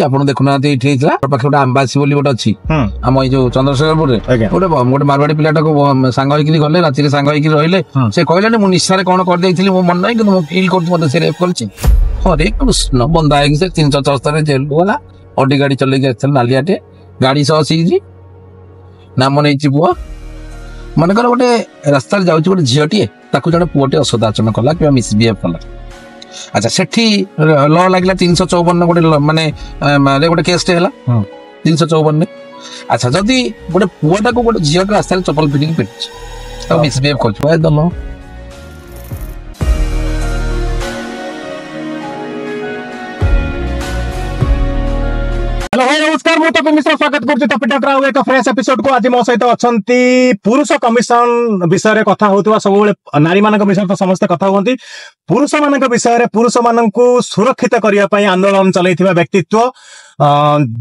ଆପଣ ଦେଖୁନାହାନ୍ତି, ଏଇଠି ହେଇଥିଲା ପାଖରେ ଗୋଟେ ଆମ୍ବାସି ବୋଲି ଗୋଟେ ଅଛି ଆମ ଏଇ ଯୋଉ ଚନ୍ଦ୍ରଶେଖରପୁରରେ, ଗୋଟେ ଗୋଟେ ମାରବାଡି ପିଲାଟାକୁ ସାଙ୍ଗ ହେଇକିରି ଗଲେ, ରାତିରେ ସାଙ୍ଗ ହେଇକି ରହିଲେ। ସେ କହିଲାନି ମୁଁ ନିଶାରେ କଣ କରିଦେଇଥିଲି ମୋ ମନେ ନାହିଁ, କିନ୍ତୁ ମୁଁ ଫିଲ୍ କରୁଛି ମତେ ସେ ରେପ୍ କରିଛି। ହରେ କୃଷ୍ଣ, ବନ୍ଧା ହେଇକି ସେ 374 ଜେଲକୁ ଗଲା। ଅଡି ଗାଡି ଚଲେଇକି ଆସିଥିଲା, ନାଲିଆଟେ ଗାଡି ସହ ସିଜି ନାମ ନେଇଛି ପୁଅ। ମନେକର ଗୋଟେ ରାସ୍ତାରେ ଯାଉଛି ଗୋଟେ ଝିଅଟିଏ, ତାକୁ ଜଣେ ପୁଅଟେ ଅସଦାଚରଣ କଲା କିମ୍ବା ମିସବିହେଭ୍ କଲା। ଆଚ୍ଛା, ସେଠି ଲ ଲାଗିଲା 354 ଗୋଟେ, ମାନେ ଗୋଟେ କେସଟେ ହେଲା 354ରେ। ଆଚ୍ଛା, ଯଦି ଗୋଟେ ପୁଅଟାକୁ ଗୋଟେ ଝିଅଟା ରାସ୍ତାରେ ଚପଲ ପିନ୍ଧିକି ପିଟିଛି, ତାକୁ ମିସବିହେଭ୍ କରୁଛି, ଦଲ। ହ୍ୟାଲୋ ଭାଇ ନମସ୍କାର, ମୁଁ ତପି ମିଶ୍ର ସ୍ୱାଗତ କରୁଛି ତପି ଟକର ଆଉ ଏକ ଫ୍ରେଶ ଏପିସୋଡ କୁ। ଆଜି ମୋ ସହିତ ଅଛନ୍ତି ପୁରୁଷ କମିଶନ ବିଷୟରେ କଥା ହଉଥିବା, ସବୁବେଳେ ନାରୀମାନଙ୍କ ବିଷୟରେ ତ ସମସ୍ତେ କଥା ହୁଅନ୍ତି, ପୁରୁଷମାନଙ୍କ ବିଷୟରେ ପୁରୁଷମାନଙ୍କୁ ସୁରକ୍ଷିତ କରିବା ପାଇଁ ଆନ୍ଦୋଳନ ଚଲେଇଥିବା ବ୍ୟକ୍ତିତ୍ୱ,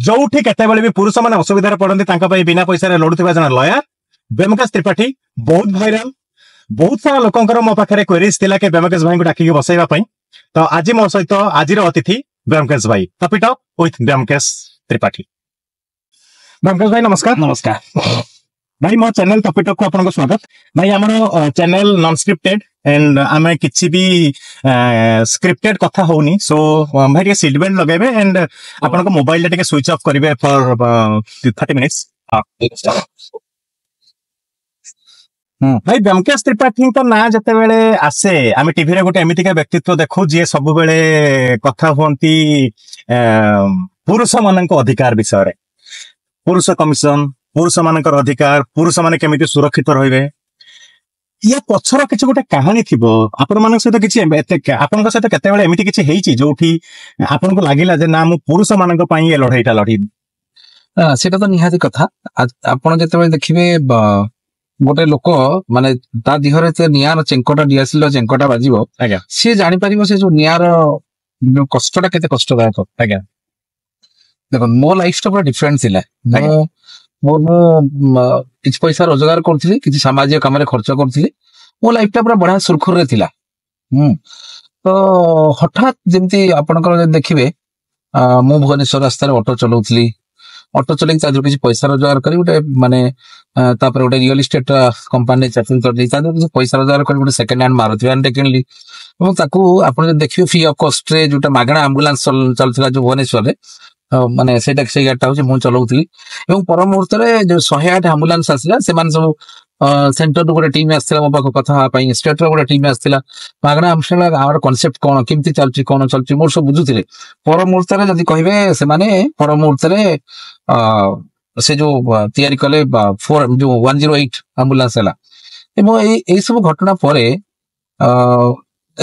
ଯୋଉଠି କେତେବେଳେ ବି ପୁରୁଷମାନେ ଅସୁବିଧାରେ ପଡନ୍ତି ତାଙ୍କ ପାଇଁ ବିନା ପଇସାରେ ଲଢୁଥିବା ଜଣେ ଲୟାର ବ୍ୟୋମକେଶ ତ୍ରିପାଠୀ। ବହୁତ ଭାଇରାଲ, ବହୁତ ସାରା ଲୋକଙ୍କର ମୋ ପାଖରେ କ୍ୱେରିଜ ଥିଲା କି ବ୍ୟୋମକେଶ ଭାଇଙ୍କୁ ଡାକିକି ବସେଇବା ପାଇଁ। ତ ଆଜି ମୋ ସହିତ ଆଜିର ଅତିଥି ବ୍ୟୋମକେଶ ଭାଇ। Tapi talk with Byomkesh Tripathi. ବ୍ୟୋମକେଶ ଭାଇ ନମସ୍କାର। ନମସ୍କାର ଭାଇ, ମୋ ଚ୍ୟାନେଲ ତପି ଟକ୍ କୁ ଆପଣଙ୍କୁ ସ୍ୱାଗତ। ଭାଇ, ଆମର ଚ୍ୟାନେଲ ନନ୍ ସ୍କ୍ରିପ୍ଟେଡ ଏଣ୍ଡ ଆମେ କିଛି ବି ସ୍କ୍ରିପ୍ଟେଡ କଥା ହଉନି। ସୋ ଭାଇ ଟିକେ ସିଟ୍ ବେଲ୍ଟ ଲଗେଇବେ ଏଣ୍ଡ ଆପଣଙ୍କ ମୋବାଇଲଟା ଟିକେ ସୁଇଚ୍ ଅଫ୍ କରିବେ ଫର 30 ମିନିଟ୍ସ। ଭାଇ, ବ୍ୟୋମକେଶ ତ୍ରିପାଠୀଙ୍କ ନାଁ ଯେତେବେଳେ ଆସେ ଆମେ ଟିଭିରେ ଗୋଟେ ଏମିତିକା ବ୍ୟକ୍ତିତ୍ୱ ଦେଖୁ ଯିଏ ସବୁବେଳେ କଥା ହୁଅନ୍ତି ପୁରୁଷ ମାନଙ୍କ ଅଧିକାର ବିଷୟରେ, ପୁରୁଷ କମିଶନ, ପୁରୁଷ ମାନଙ୍କର ଅଧିକାର, ପୁରୁଷ ମାନେ କେମିତି ସୁରକ୍ଷିତ ରହିବେ। ୟା ପଛର କିଛି ଗୋଟେ କାହାଣୀ ଥିବ। ଆପଣମାନଙ୍କ ସହିତ କିଛି ଏତେ, ଆପଣଙ୍କ ସହିତ କେତେବେଳେ ଏମିତି କିଛି ହେଇଛି ଯୋଉଠି ଆପଣଙ୍କୁ ଲାଗିଲା ଯେ ନା, ମୁଁ ପୁରୁଷ ମାନଙ୍କ ପାଇଁ ଏ ଲଢେଇଟା ଲଢିବି? ସେଇଟା ତ ନିହାତି କଥା। ଆପଣ ଯେତେବେଳେ ଦେଖିବେ ଗୋଟେ ଲୋକ ମାନେ ତା ଦେହରେ ସେ ନିଆଁର ଚେଙ୍କଟା, ଡିଆସିଲର ଚେଙ୍କଟା ବାଜିବ, ସିଏ ଜାଣିପାରିବ ସେ ଯୋଉ ନିଆଁର କଷ୍ଟଟା କେତେ କଷ୍ଟଦାୟକ। ଦେଖନ୍ତୁ, ମୋ ଲାଇଫ ଟା ପୁରା ଡିଫରେଣ୍ଟ ଥିଲା। ମୁଁ ମୁଁ କିଛି ପଇସା ରୋଜଗାର କରୁଥିଲି, କିଛି ସାମାଜିକ କାମରେ ଖର୍ଚ୍ଚ କରୁଥିଲି, ମୋ ଲାଇଫ ଟା ପୁରା ବଢିଆ ସୁରୁଖୁରୁରେ ଥିଲା। ତ ହଠାତ୍ ଯେମିତି ଆପଣଙ୍କର ଯଦି ଦେଖିବେ, ମୁଁ ଭୁବନେଶ୍ୱର ରାସ୍ତାରେ ଅଟୋ ଚଲାଉଥିଲି। ଅଟୋ ଚଲେଇକି ତା ଦେହରୁ କିଛି ପଇସା ରୋଜଗାର କରି ଗୋଟେ ମାନେ ତାପରେ ଗୋଟେ ରିଅଲ ଇଷ୍ଟେଟ କମ୍ପାନୀରେ ଚାକିରି କରିଦେଇ ତା ଦେହରୁ କିଛି ପଇସା ରୋଜଗାର କରି ଗୋଟେ ସେକେଣ୍ଡ ହ୍ୟାଣ୍ଡ ମାରୁତି ଭ୍ୟାନଟେ କିଣିଲି। ଏବଂ ତାକୁ ଆପଣ ଯଦି ଦେଖିବେ ଫ୍ରି ଅଫ କଷ୍ଟରେ ଯୋଉଟା ମାଗଣା ଆମ୍ବୁଲାନ୍ସ ଚାଲୁଥିଲା ଯୋଉ ଭୁବନେଶ୍ୱରରେ, ମାନେ ସେଇଟା ସେଇ ଗାଡିଟା ହଉଛି ମୁଁ ଚଲାଉଥିଲି। ଏବଂ ପର ମୁହୂର୍ତ୍ତରେ ଯୋଉ 108 ଆମ୍ବୁଲାନ୍ସ ଆସିଲା, ସେମାନେ ସବୁ ସେଣ୍ଟରରୁ ଗୋଟେ ଟିମ୍ ଆସିଥିଲା ମୋ ପାଖକୁ କଥା ହେବା ପାଇଁ, ଷ୍ଟେଟର ଗୋଟେ ଟିମ୍ ଆସିଥିଲା। ମାଗଣା ଆମ୍ବୁଲାନ୍ସ ଆମର କନସେପ୍ଟ କଣ, କେମିତି ଚାଲୁଛି, କଣ ଚାଲୁଛି, ମୋର ସବୁ ବୁଝୁଥିଲେ। ପର ମୁହୂର୍ତ୍ତରେ ଯଦି କହିବେ ସେମାନେ ପର ମୁହୂର୍ତ୍ତରେ ସେ ଯୋଉ ତିଆରି କଲେ ଫୋର ଯୋଉ 108 ଆମ୍ବୁଲାନ୍ସ ହେଲା। ଏବଂ ଏଇ ସବୁ ଘଟଣା ପରେ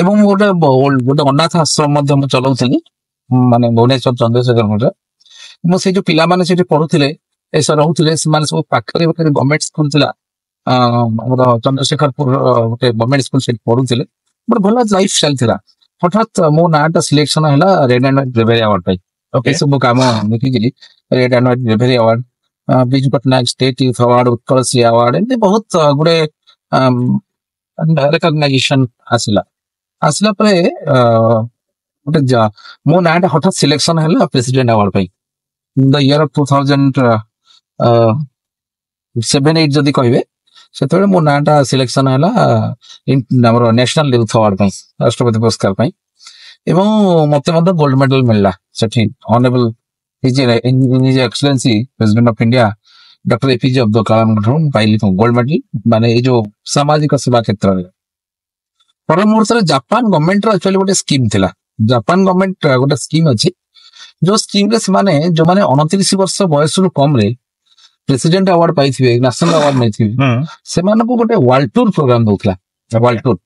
ଏବଂ ମୁଁ ଗୋଟେ ଗୋଟେ ଅନାଥ ଆଶ୍ରମ ମଧ୍ୟ ମୁଁ ଚଲାଉଥିଲି, ମାନେ ଭୁବନେଶ୍ୱର ଚନ୍ଦ୍ରଶେଖରପୁରରେ। ମୁଁ ସେଇ ଯୋଉ ପିଲାମାନେ ସେଠି ପଢୁଥିଲେ, ଏସବୁ ରହୁଥିଲେ, ସେମାନେ ସବୁ ପାଖରେ ଗୋଟେ ଗଭର୍ଣ୍ଣମେଣ୍ଟ ସ୍କୁଲ ଥିଲା ଆମର ଚନ୍ଦ୍ରଶେଖରପୁର, ଗୋଟେ ଗଭର୍ଣ୍ଣମେଣ୍ଟ ସ୍କୁଲ, ସେଠି ପଢୁଥିଲେ। ଗୋଟେ ଭଲ ଲାଇଫ ଷ୍ଟାଇଲ ଥିଲା। ହଠାତ୍ ମୋ ନାଁଟା ସିଲେକ୍ସନ ହେଲା red and white bravery award ପାଇଁ। ଏସବୁ କାମ ଦେଖିକିରି red and white bravery award, Biju Patnaik state youth award, Utkal Shri award, ଏମିତି ବହୁତ ଗୁଡେ ରେକଗ୍ନାଇଜେସନ ଆସିଲା। ଆସିଲା ପରେ ଗୋଟେ ମୋ ନାଁଟା ହଠାତ୍ ସିଲେକ୍ସନ ହେଲା ପ୍ରେସିଡେଣ୍ଟ ଆୱାର୍ଡ ପାଇଁ the year of 2007-8 ଯଦି କହିବେ, ସେତେବେଳେ ମୋ ନାଁଟା ସିଲେକ୍ସନ ହେଲା ଆମର ନ୍ୟାସନାଲ ୟୁଥ ଆୱାର୍ଡ ପାଇଁ, ରାଷ୍ଟ୍ରପତି ପୁରସ୍କାର ପାଇଁ। ଏବଂ ମତେ ମଧ୍ୟ ଗୋଲ୍ଡ ମେଡାଲ ମିଳିଲା ସେଠି honourable his excellency president of India doctor APJ Abdul କାଲାମଙ୍କ ଠାରୁ ମୁଁ ପାଇଲି ଗୋଲ୍ଡ ମେଡାଲ, ମାନେ ଏଇ ଯୋଉ ସାମାଜିକ ସେବା କ୍ଷେତ୍ରରେ। ପର ମୁହୂର୍ତ୍ତରେ ଜାପାନ ଗଭର୍ଣ୍ଣମେଣ୍ଟର ଆକ୍ଚୁଆଲି ଗୋଟେ ସ୍କିମ୍ ଥିଲା। ଜାପାନ ଗଭର୍ଣ୍ଣମେଣ୍ଟ ଗୋଟେ ସ୍କିମ୍ ଅଛି, ଯୋଉ ସ୍କିମରେ ସେମାନେ ଯୋଉମାନେ 29 ବର୍ଷ ବୟସରୁ କମରେ ପ୍ରେସିଡେଣ୍ଟ ଆୱାର୍ଡ ପାଇଥିବେ, ନ୍ୟାସନାଲ ଆୱାର୍ଡ ନେଇଥିବେ, ସେମାନଙ୍କୁ ଗୋଟେ ୱାର୍ଲଡ ଟୁର ପ୍ରୋଗ୍ରାମ ଦଉଥିଲା। ୱାର୍ଲଡ ଟୁର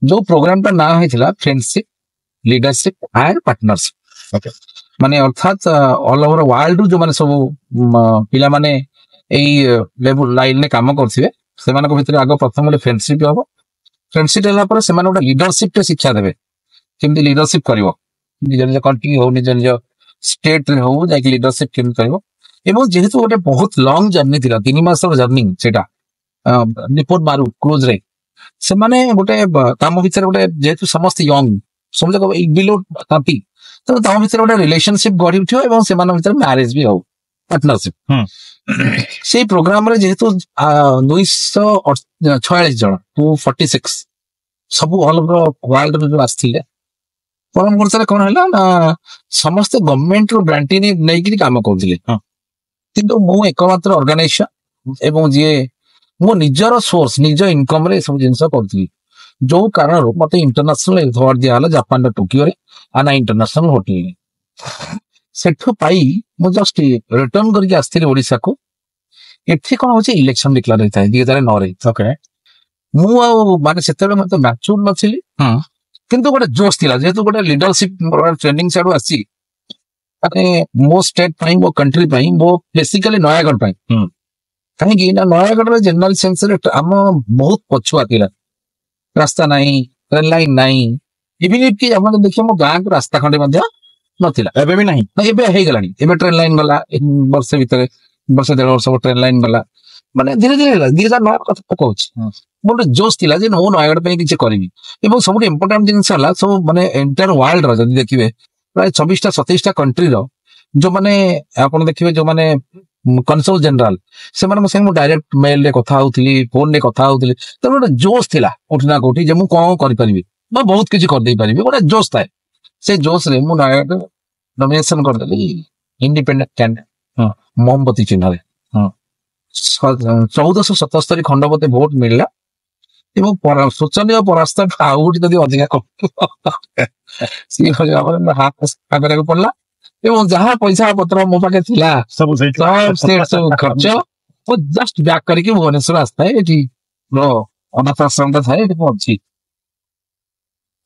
ଯୋଉ ପ୍ରୋଗ୍ରାମଟା ନାଁ ହେଇଥିଲା ଫ୍ରେଣ୍ଡସିପ, ଲିଡରସିପ ଆଣ୍ଡ ପାର୍ଟନରସିପ। ମାନେ ଅର୍ଥାତ୍ ଅଲ ଓଭର ୱାର୍ଲଡ ରୁ ଯୋଉମାନେ ସବୁ ପିଲାମାନେ ଏଇ ଲେବୁଲ ଲାଇନରେ କାମ କରୁଥିବେ, ସେମାନଙ୍କ ଭିତରେ ଆଗ ପ୍ରଥମ ଗୋଟେ ଫ୍ରେଣ୍ଡସିପ ହବ। ଫ୍ରେଣ୍ଡସିପ ହେଲା ପରେ ସେମାନେ ଗୋଟେ ଲିଡରସିପ ଶିକ୍ଷା ଦେବେ, କେମିତି ଲିଡରସିପ କରିବ, ନିଜ ନିଜ କଣ୍ଟ୍ରି ହଉ, ନିଜ ନିଜ ଷ୍ଟେଟରେ ହଉ, ଯାଇକି ଲିଡରସିପ କେମିତି କରିବ। ଏବଂ ଯେହେତୁ ଗୋଟେ ବହୁତ ଲଙ୍ଗ ଜର୍ଣ୍ଣି ଥିଲା, 3 ମାସର ଜର୍ଣ୍ଣି ସେଇଟା ନିପୋନ ମାରୁ କ୍ରୁଜରେ, ସେମାନେ ଗୋଟେ କାମ ଭିତରେ ଗୋଟେ ଯେହେତୁ ସମସ୍ତେ ୟଙ୍ଗ, ସମସ୍ତେ ବିଲୋ 30, ତେଣୁ ତମ ଭିତରେ ଗୋଟେ ରିଲେସନସିପ ଗଢି ଉଠିବ ଏବଂ ସେମାନଙ୍କ ଭିତରେ ମ୍ୟାରେଜ ବି ହଉ, ପାର୍ଟନରସିପ। ସେଇ ପ୍ରୋଗ୍ରାମରେ ଯେହେତୁ 246 ଜଣ, 246 ସବୁ ଅଲ ଓଭର ୱାର୍ଲଡ ଯୋଉ ଆସିଥିଲେ, ପର ମୁହୂର୍ତ୍ତରେ କଣ ହେଲା ନା ସମସ୍ତେ ଗଭର୍ଣ୍ଣମେଣ୍ଟ ରୁ ଗ୍ରାଣ୍ଟି ନେଇକିରି କାମ କରୁଥିଲେ। କିନ୍ତୁ ମୁଁ ଏକମାତ୍ର ଅର୍ଗାନାଇଜେସନ ଏବଂ ଯିଏ ମୋ ନିଜର ସୋର୍ସ, ନିଜ ଇନକମ ରେ ଏସବୁ ଜିନିଷ କରୁଥିଲି, ଯୋଉ କାରଣରୁ ମତେ ଇଣ୍ଟରନ୍ୟାସନାଲ ଆୱାର୍ଡ ଦିଆହେଲା ଜାପାନର ଟୋକିଓରେ ଆନା ଇଣ୍ଟରନ୍ୟାସନାଲ ହୋଟେଲରେ। ସେଠୁ ପାଇ ମୁଁ ଜଷ୍ଟ ରିଟର୍ନ କରିକି ଆସିଥିଲି ଓଡିଶାକୁ। ଏଠି କଣ ହଉଛି, ଇଲେକ୍ସନ ଡିକ୍ଲାର ହେଇଥାଏ 2009ରେ। ମୁଁ ଆଉ ମାନେ ସେତେବେଳେ ମତେ ମ୍ୟାଚୁର ନଥିଲି, କିନ୍ତୁ ଗୋଟେ ଜୋଶ ଥିଲା, ଯେହେତୁ ଗୋଟେ ଲିଡରସିପ ଟ୍ରେନିଂ ସିଆଡୁ ଆସିଛି, ମାନେ ମୋ ଷ୍ଟେଟ ପାଇଁ, ମୋ କଣ୍ଟ୍ରି ପାଇଁ, ମୋ ବେସିକାଲି ନୟାଗଡ଼ ପାଇଁ। କାହିଁକି ନା ନୟାଗଡ଼ରେ ଜେନେରାଲ ସେନ୍ସରେ ଆମ ବହୁତ ପଛୁଆ ଥିଲା, ରାସ୍ତା ନାହିଁ, ଟ୍ରେନ ଲାଇନ ନାହିଁ, ଇଭିନ୍ କି ଆପଣ ଦେଖିବେ ମୋ ଗାଁକୁ ରାସ୍ତା ଖଣ୍ଡେ ମଧ୍ୟ ନଥିଲା। ଏବେ ବି ନାହିଁ? ନା, ଏବେ ହେଇଗଲାଣି। ଏବେ ଟ୍ରେନ ଲାଇନ ଗଲା, ଏ ବର୍ଷେ ଭିତରେ, ବର୍ଷେ ଦେଢ ବର୍ଷ ଟ୍ରେନ ଲାଇନ ଗଲା, ମାନେ ଧୀରେ ଧୀରେ ହେଲା। 2009 କଥା ମୁଁ କହୁଛି। ମୋର ଗୋଟେ ଜୋଶ ଥିଲା ଯେ ମୁଁ ନୟାଗଡ଼ ପାଇଁ କିଛି କରିବି। ଏବଂ ସବୁଠୁ ଇମ୍ପୋର୍ଟାଣ୍ଟ ଜିନିଷ ହେଲା, ସବୁ ମାନେ ଏଣ୍ଟାୟାର ୱାର୍ଲଡର ଯଦି ଦେଖିବେ, ପ୍ରାୟ 26ଟା 27ଟା କଣ୍ଟ୍ରିର ଯୋଉମାନେ ଆପଣ ଦେଖିବେ ଯୋଉମାନେ କନସଲ ଜେନେରାଲ, ସେମାନଙ୍କ ସାଙ୍ଗେ ମୁଁ ଡାଇରେକ୍ଟ ମେଲରେ କଥା ହଉଥିଲି, ଫୋନରେ କଥା ହଉଥିଲି। ତେଣୁ ଗୋଟେ ଜୋଶ ଥିଲା କୋଉଠି ନା କୋଉଠି ଯେ ମୁଁ କଣ କରିପାରିବି ବା ବହୁତ କିଛି କରିଦେଇ ପାରିବି, ଗୋଟେ ଜୋଶ ଥାଏ। ସେ ଜୋଶରେ ମୁଁ ନୟାଗଡ଼ ନମିନେସନ କରିଦେଲି ଇଣ୍ଡିପେଣ୍ଡେଣ୍ଟ କ୍ୟାଣ୍ଡିଡେଟ୍, ମହମବତୀ ଚିହ୍ନରେ। 1477 ଖଣ୍ଡ ମତେ ଭୋଟ ମିଳିଲା ଏବଂ ଶୋଚନୀୟ ପରାସ୍ତ। ଆଉ ଗୋଟେ ଯଦି ଅଧିକା ସିଏ ଭାବରେ ହାତ ସଫା କରିବାକୁ ପଡିଲା ଏବଂ ଯାହା ପଇସା ପତ୍ର ମୋ ପାଖେ ଥିଲା ସବୁ ସେଇଠି ସବୁ ସେ ସବୁ ଖର୍ଚ୍ଚ। ମୁଁ ଜଷ୍ଟ ବ୍ୟାକ୍ କରିକି ଭୁବନେଶ୍ୱର ଆସିଥାଏ, ଏଠି ମୋର ଅନାଥ ଆଶ୍ରମଟା ଥାଏ, ଏଠି ମୁଁ ଅଛି।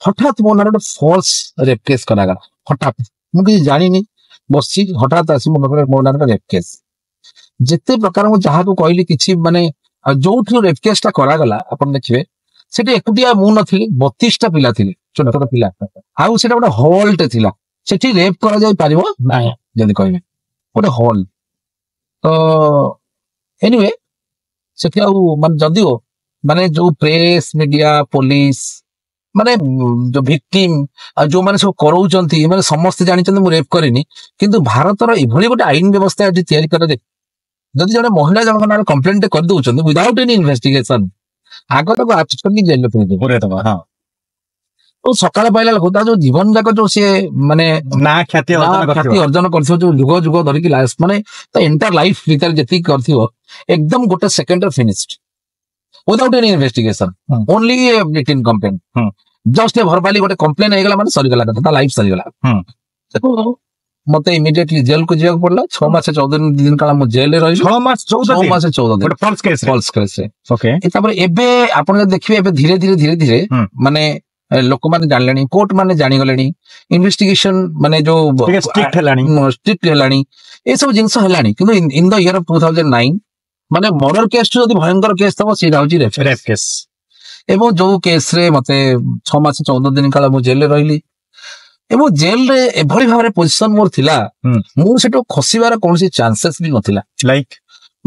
ହଠାତ୍ ମୋ ନାଁରେ ଗୋଟେ ଫଲ୍ସ ରେପ୍ କେସ୍ କରାଗଲା। ହଠାତ୍ ମୁଁ କିଛି ଜାଣିନି, ବସିଛି, ହଠାତ୍ ଆସି ମୋ ପାଖରେ ମୋ ନାଁରେ ରେପ୍ କେସ୍। ଯେତେ ପ୍ରକାର ମୁଁ ଯାହାକୁ କହିଲି କିଛି ମାନେ, ଆଉ ଯୋଉଠୁ ରେପ୍ କେସ୍ ଟା କରାଗଲା ଆପଣ ଦେଖିବେ ସେଠି ଏକୁଟିଆ ମୁଁ ନଥିଲି, 32ଟା ପିଲା ଥିଲେ, ଛୋଟ ଛୋଟ ପିଲା। ଆଉ ସେଟା ଗୋଟେ ହଲଟେ ଥିଲା, ସେଠି ରେପ୍ କରାଯାଇ ପାରିବ ନାହିଁ ଯଦି କହିବେ, ଗୋଟେ ହଲ୍ ତ। ଏନିୱେ ସେଠି ଆଉ ମାନେ ଯଦିଓ ମାନେ ଯୋଉ ପ୍ରେସ୍ ମିଡିଆ, ପୋଲିସ, ମାନେ ଯୋଉ ଭିକ୍ଟିମ ଆଉ ଯୋଉମାନେ ସବୁ କରଉଛନ୍ତି, ମାନେ ସମସ୍ତେ ଜାଣିଛନ୍ତି ମୁଁ ରେପ୍ କରିନି। କିନ୍ତୁ ଭାରତର ଏଭଳି ଗୋଟେ ଆଇନ ବ୍ୟବସ୍ଥା ଏଠି ତିଆରି କରାଯାଏ, ଯଦି ଜଣେ ମହିଳା ଜଣଙ୍କ ନାଁରେ କମ୍ପ୍ଲେଣ୍ଟ କରିଦଉଛନ୍ତି ୱିଦାଉଟ୍ ଏନି ଇନଭେଷ୍ଟିଗେସନ, ଆଗ ତାକୁ ଆରେଷ୍ଟ କରିକି ଜେଲରେ ପୁରେଇଦେବେ। ପୁରେଇଦବା, ହଁ। ତ ସକାଳ ପାଇଲା ବେଳକୁ ତା ଯୋଉ ଜୀବନ ଯାକ ଯୋଉ ସିଏ ମାନେ ନା ଖ୍ୟାତି ନା ଅର୍ଜନ ଖ୍ୟାତି କରିଥିବ, ଅର୍ଜନ କରିଥିବ, ଯୋଉ ଯୁଗ ଯୁଗ ଧରିକି ଲାଷ୍ଟ ମାନେ ତା ଏଣ୍ଟାୟାର ଲାଇଫ ଭିତରେ ଯେତିକି କରିଥିବ, ଏକଦମ ଗୋଟେ ସେକେଣ୍ଡରେ finished without any investigation, only written complaint. Just verbally ଗୋଟେ କମ୍ପ୍ଲେନ ହେଇଗଲା ମାନେ ସରିଗଲା କଥା, ତା ଲାଇଫ ସରିଗଲା। ତେଣୁ ମତେ ଇମିଡିଏଟଲି ଜେଲକୁ ଯିବାକୁ ପଡିଲା। 6 ମାସ 14 ଦିନ କାଳ ମୁଁ ଜେଲରେ ରହିଲି। 6 ମାସ 14 6 ଦିନ? ମାସ 14 ଦିନ। ଗୋଟେ ଫଲ୍ସ କେସ୍? ଫଲ୍ସ କେସରେ। ତାପରେ ଏବେ ଆପଣ ଯଦି ଦେଖିବେ, ଏବେ ଧୀରେ ଧୀରେ ଧୀରେ ଧୀରେ ମାନେ ଲୋକମାନେ ଜାଣିଲେଣି, କୋର୍ଟ ମାନେ ଜାଣିଗଲେଣି, ଇନଭେଷ୍ଟିଗେସନ ମାନେ ଯୋଉ ଟିକେ ଷ୍ଟ୍ରିକ୍ଟ ହେଲାଣି। ଷ୍ଟ୍ରିକ୍ଟ ହେଲାଣି, ଏସବୁ ଜିନିଷ ହେଲାଣି। କିନ୍ତୁ in the year of 2009 ମାନେ ମର୍ଡର କେସ୍ ଯଦି ଭୟଙ୍କର କେସ୍ ଥବ, ସେଇଟା ହଉଛି ରେପ୍। Rape case. ଏବଂ ଯୋଉ କେସରେ ମତେ 6 ମାସ 14 ଦିନ କାଳ ମୁଁ ଜେଲରେ ରହିଲି ଏବଂ ଜେଲରେ ଏଭଳି ଭାବରେ ପୋଜିସନ ମୋର ଥିଲା, ମୁଁ ସେଠୁ ଖସିବାର କୌଣସି ଚାନ୍ସେସ୍ ବି ନଥିଲା। ଲାଇକ୍?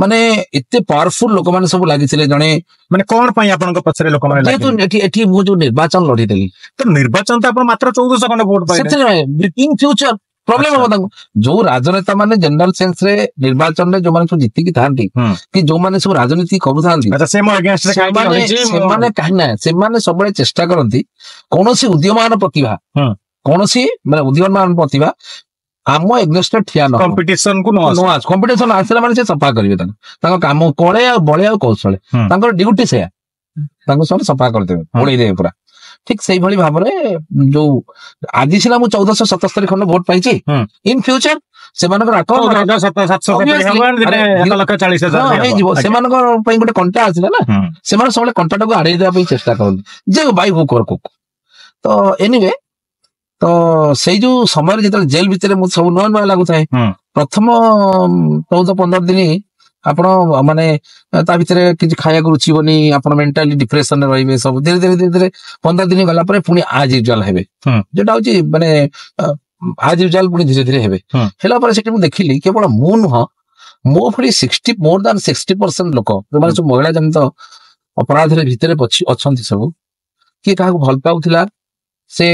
ମାନେ ଏତେ ପାୱାରଫୁଲ ଲୋକମାନେ ସବୁ ଲାଗିଥିଲେ ଜଣେ ମାନେ କଣ ପାଇଁ ଆପଣଙ୍କ ପଛରେ ଲୋକମାନେ ଯେହେତୁ ଲାଗିଲେ? ଏଠି ମୁଁ ଯୋଉ ନିର୍ବାଚନ ଲଢିଥିଲି। ତ ନିର୍ବାଚନ ତ ଆପଣ ମାତ୍ର 1400 ଖଣ୍ଡେ ଭୋଟ ପାଇଲେ। ସେଥିରେ ଇନ ଫ୍ୟୁଚର ପ୍ରୋବ୍ଲେମ ହବ ତାଙ୍କୁ। ଯୋଉ ରାଜନେତା ମାନେ ଜେନେରାଲ ସେନ୍ସ ରେ ନିର୍ବାଚନରେ ଯୋଉମାନେ ସବୁ ଜିତିକି ଥାନ୍ତି କି ଯୋଉମାନେ ସବୁ ରାଜନୀତି କରୁଥାନ୍ତି, ଆଚ୍ଛା, ସେ ମୋ ଏଗେନଷ୍ଟରେ କାହିଁକି ସେମାନେ ଲଢିଛି, ସେମାନେ କାହିଁ ନା ସେମାନେ ସବୁବେଳେ ଚେଷ୍ଟା କରନ୍ତି କୌଣସି ଉଦୀୟମାନ ପ୍ରତିଭା, କୌଣସି ମାନେ ଉଦୀୟମାନ ପ୍ରତିଭା ଆମ ଏଗନେଷ୍ଟରେ ଠିଆ ନ ହବ। କମ୍ପିଟିସନ କୁ ନ ଆସୁ। ନ ଆସୁ। କମ୍ପିଟିସନ ଆସିଲା ମାନେ ସେ ସଫା କରିବେ ତାଙ୍କୁ, ତାଙ୍କ କାମ କଳେ ଆଉ ବଳେ ଆଉ କୌଶଳେ। ତାଙ୍କର ଡ୍ୟୁଟି ସେୟା, ତାଙ୍କୁ ସେମାନେ ସଫା କରିଦେବେ, ଉଡେଇ ଦେବେ ପୁରା। ଠିକ ସେଇଭଳି ଭାବରେ ଯୋଉ ଆଜି ସିନା ମୁଁ 1477 ଖଣ୍ଡ ଭୋଟ ପାଇଛି, ଇନ ଫ୍ୟୁଚର ସେମାନଙ୍କର ଆକଳନ 14,700 Obviously, ହବ, ଦିନେ ଆରେ, 1,40,000 ହଁ, ବି ହବ। ହେଇଯିବ। ସେମାନଙ୍କ ପାଇଁ ଗୋଟେ କଣ୍ଟା ଆସିଲା ନା, ସେମାନେ ସବୁବେଳେ କଣ୍ଟାଟାକୁ ଆଡେଇ ଦେବା ପାଇଁ ଚେଷ୍ଟା କରନ୍ତି ଯେ ବାଇ ହୁକ୍ ଅର୍ କୁକ୍। ତ ଏନିୱେ, ତ ସେଇ ଯୋଉ ସମୟରେ ଯେତେବେଳେ ଜେଲ ଭିତରେ ମୁଁ ସବୁ ନୂଆ ନୂଆ ଲାଗୁଥାଏ, ପ୍ରଥମ 14-15 ଦିନ ଆପଣ ମାନେ ତା ଭିତରେ କିଛି ଖାଇବାକୁ ରୁଚିବନି, ଆପଣ ମେଣ୍ଟାଲି ଡିପ୍ରେସନରେ ରହିବେ ସବୁ। ଧୀରେ ଧୀରେ ଧୀରେ ଧୀରେ 15 ଦିନ ଗଲା ପରେ ପୁଣି ଆଜ ୟୁଜୁଆଲ ହେବେ, ଯୋଉଟା ହଉଛି ମାନେ ଆଜ ୟୁଜୁଆଲ ପୁଣି ଧୀରେ ଧୀରେ ହେବେ। ହେଲା ପରେ ସେଠି ମୁଁ ଦେଖିଲି କେବଳ ମୁଁ ନୁହଁ, ମୋ ଭଳି 60 more than 60% ଲୋକ ଯୋଉମାନେ ସବୁ ମହିଳା ଜନିତ ଅପରାଧରେ ଭିତରେ ଅଛନ୍ତି ସବୁ, କିଏ କାହାକୁ ଭଲ ପାଉଥିଲା ସେ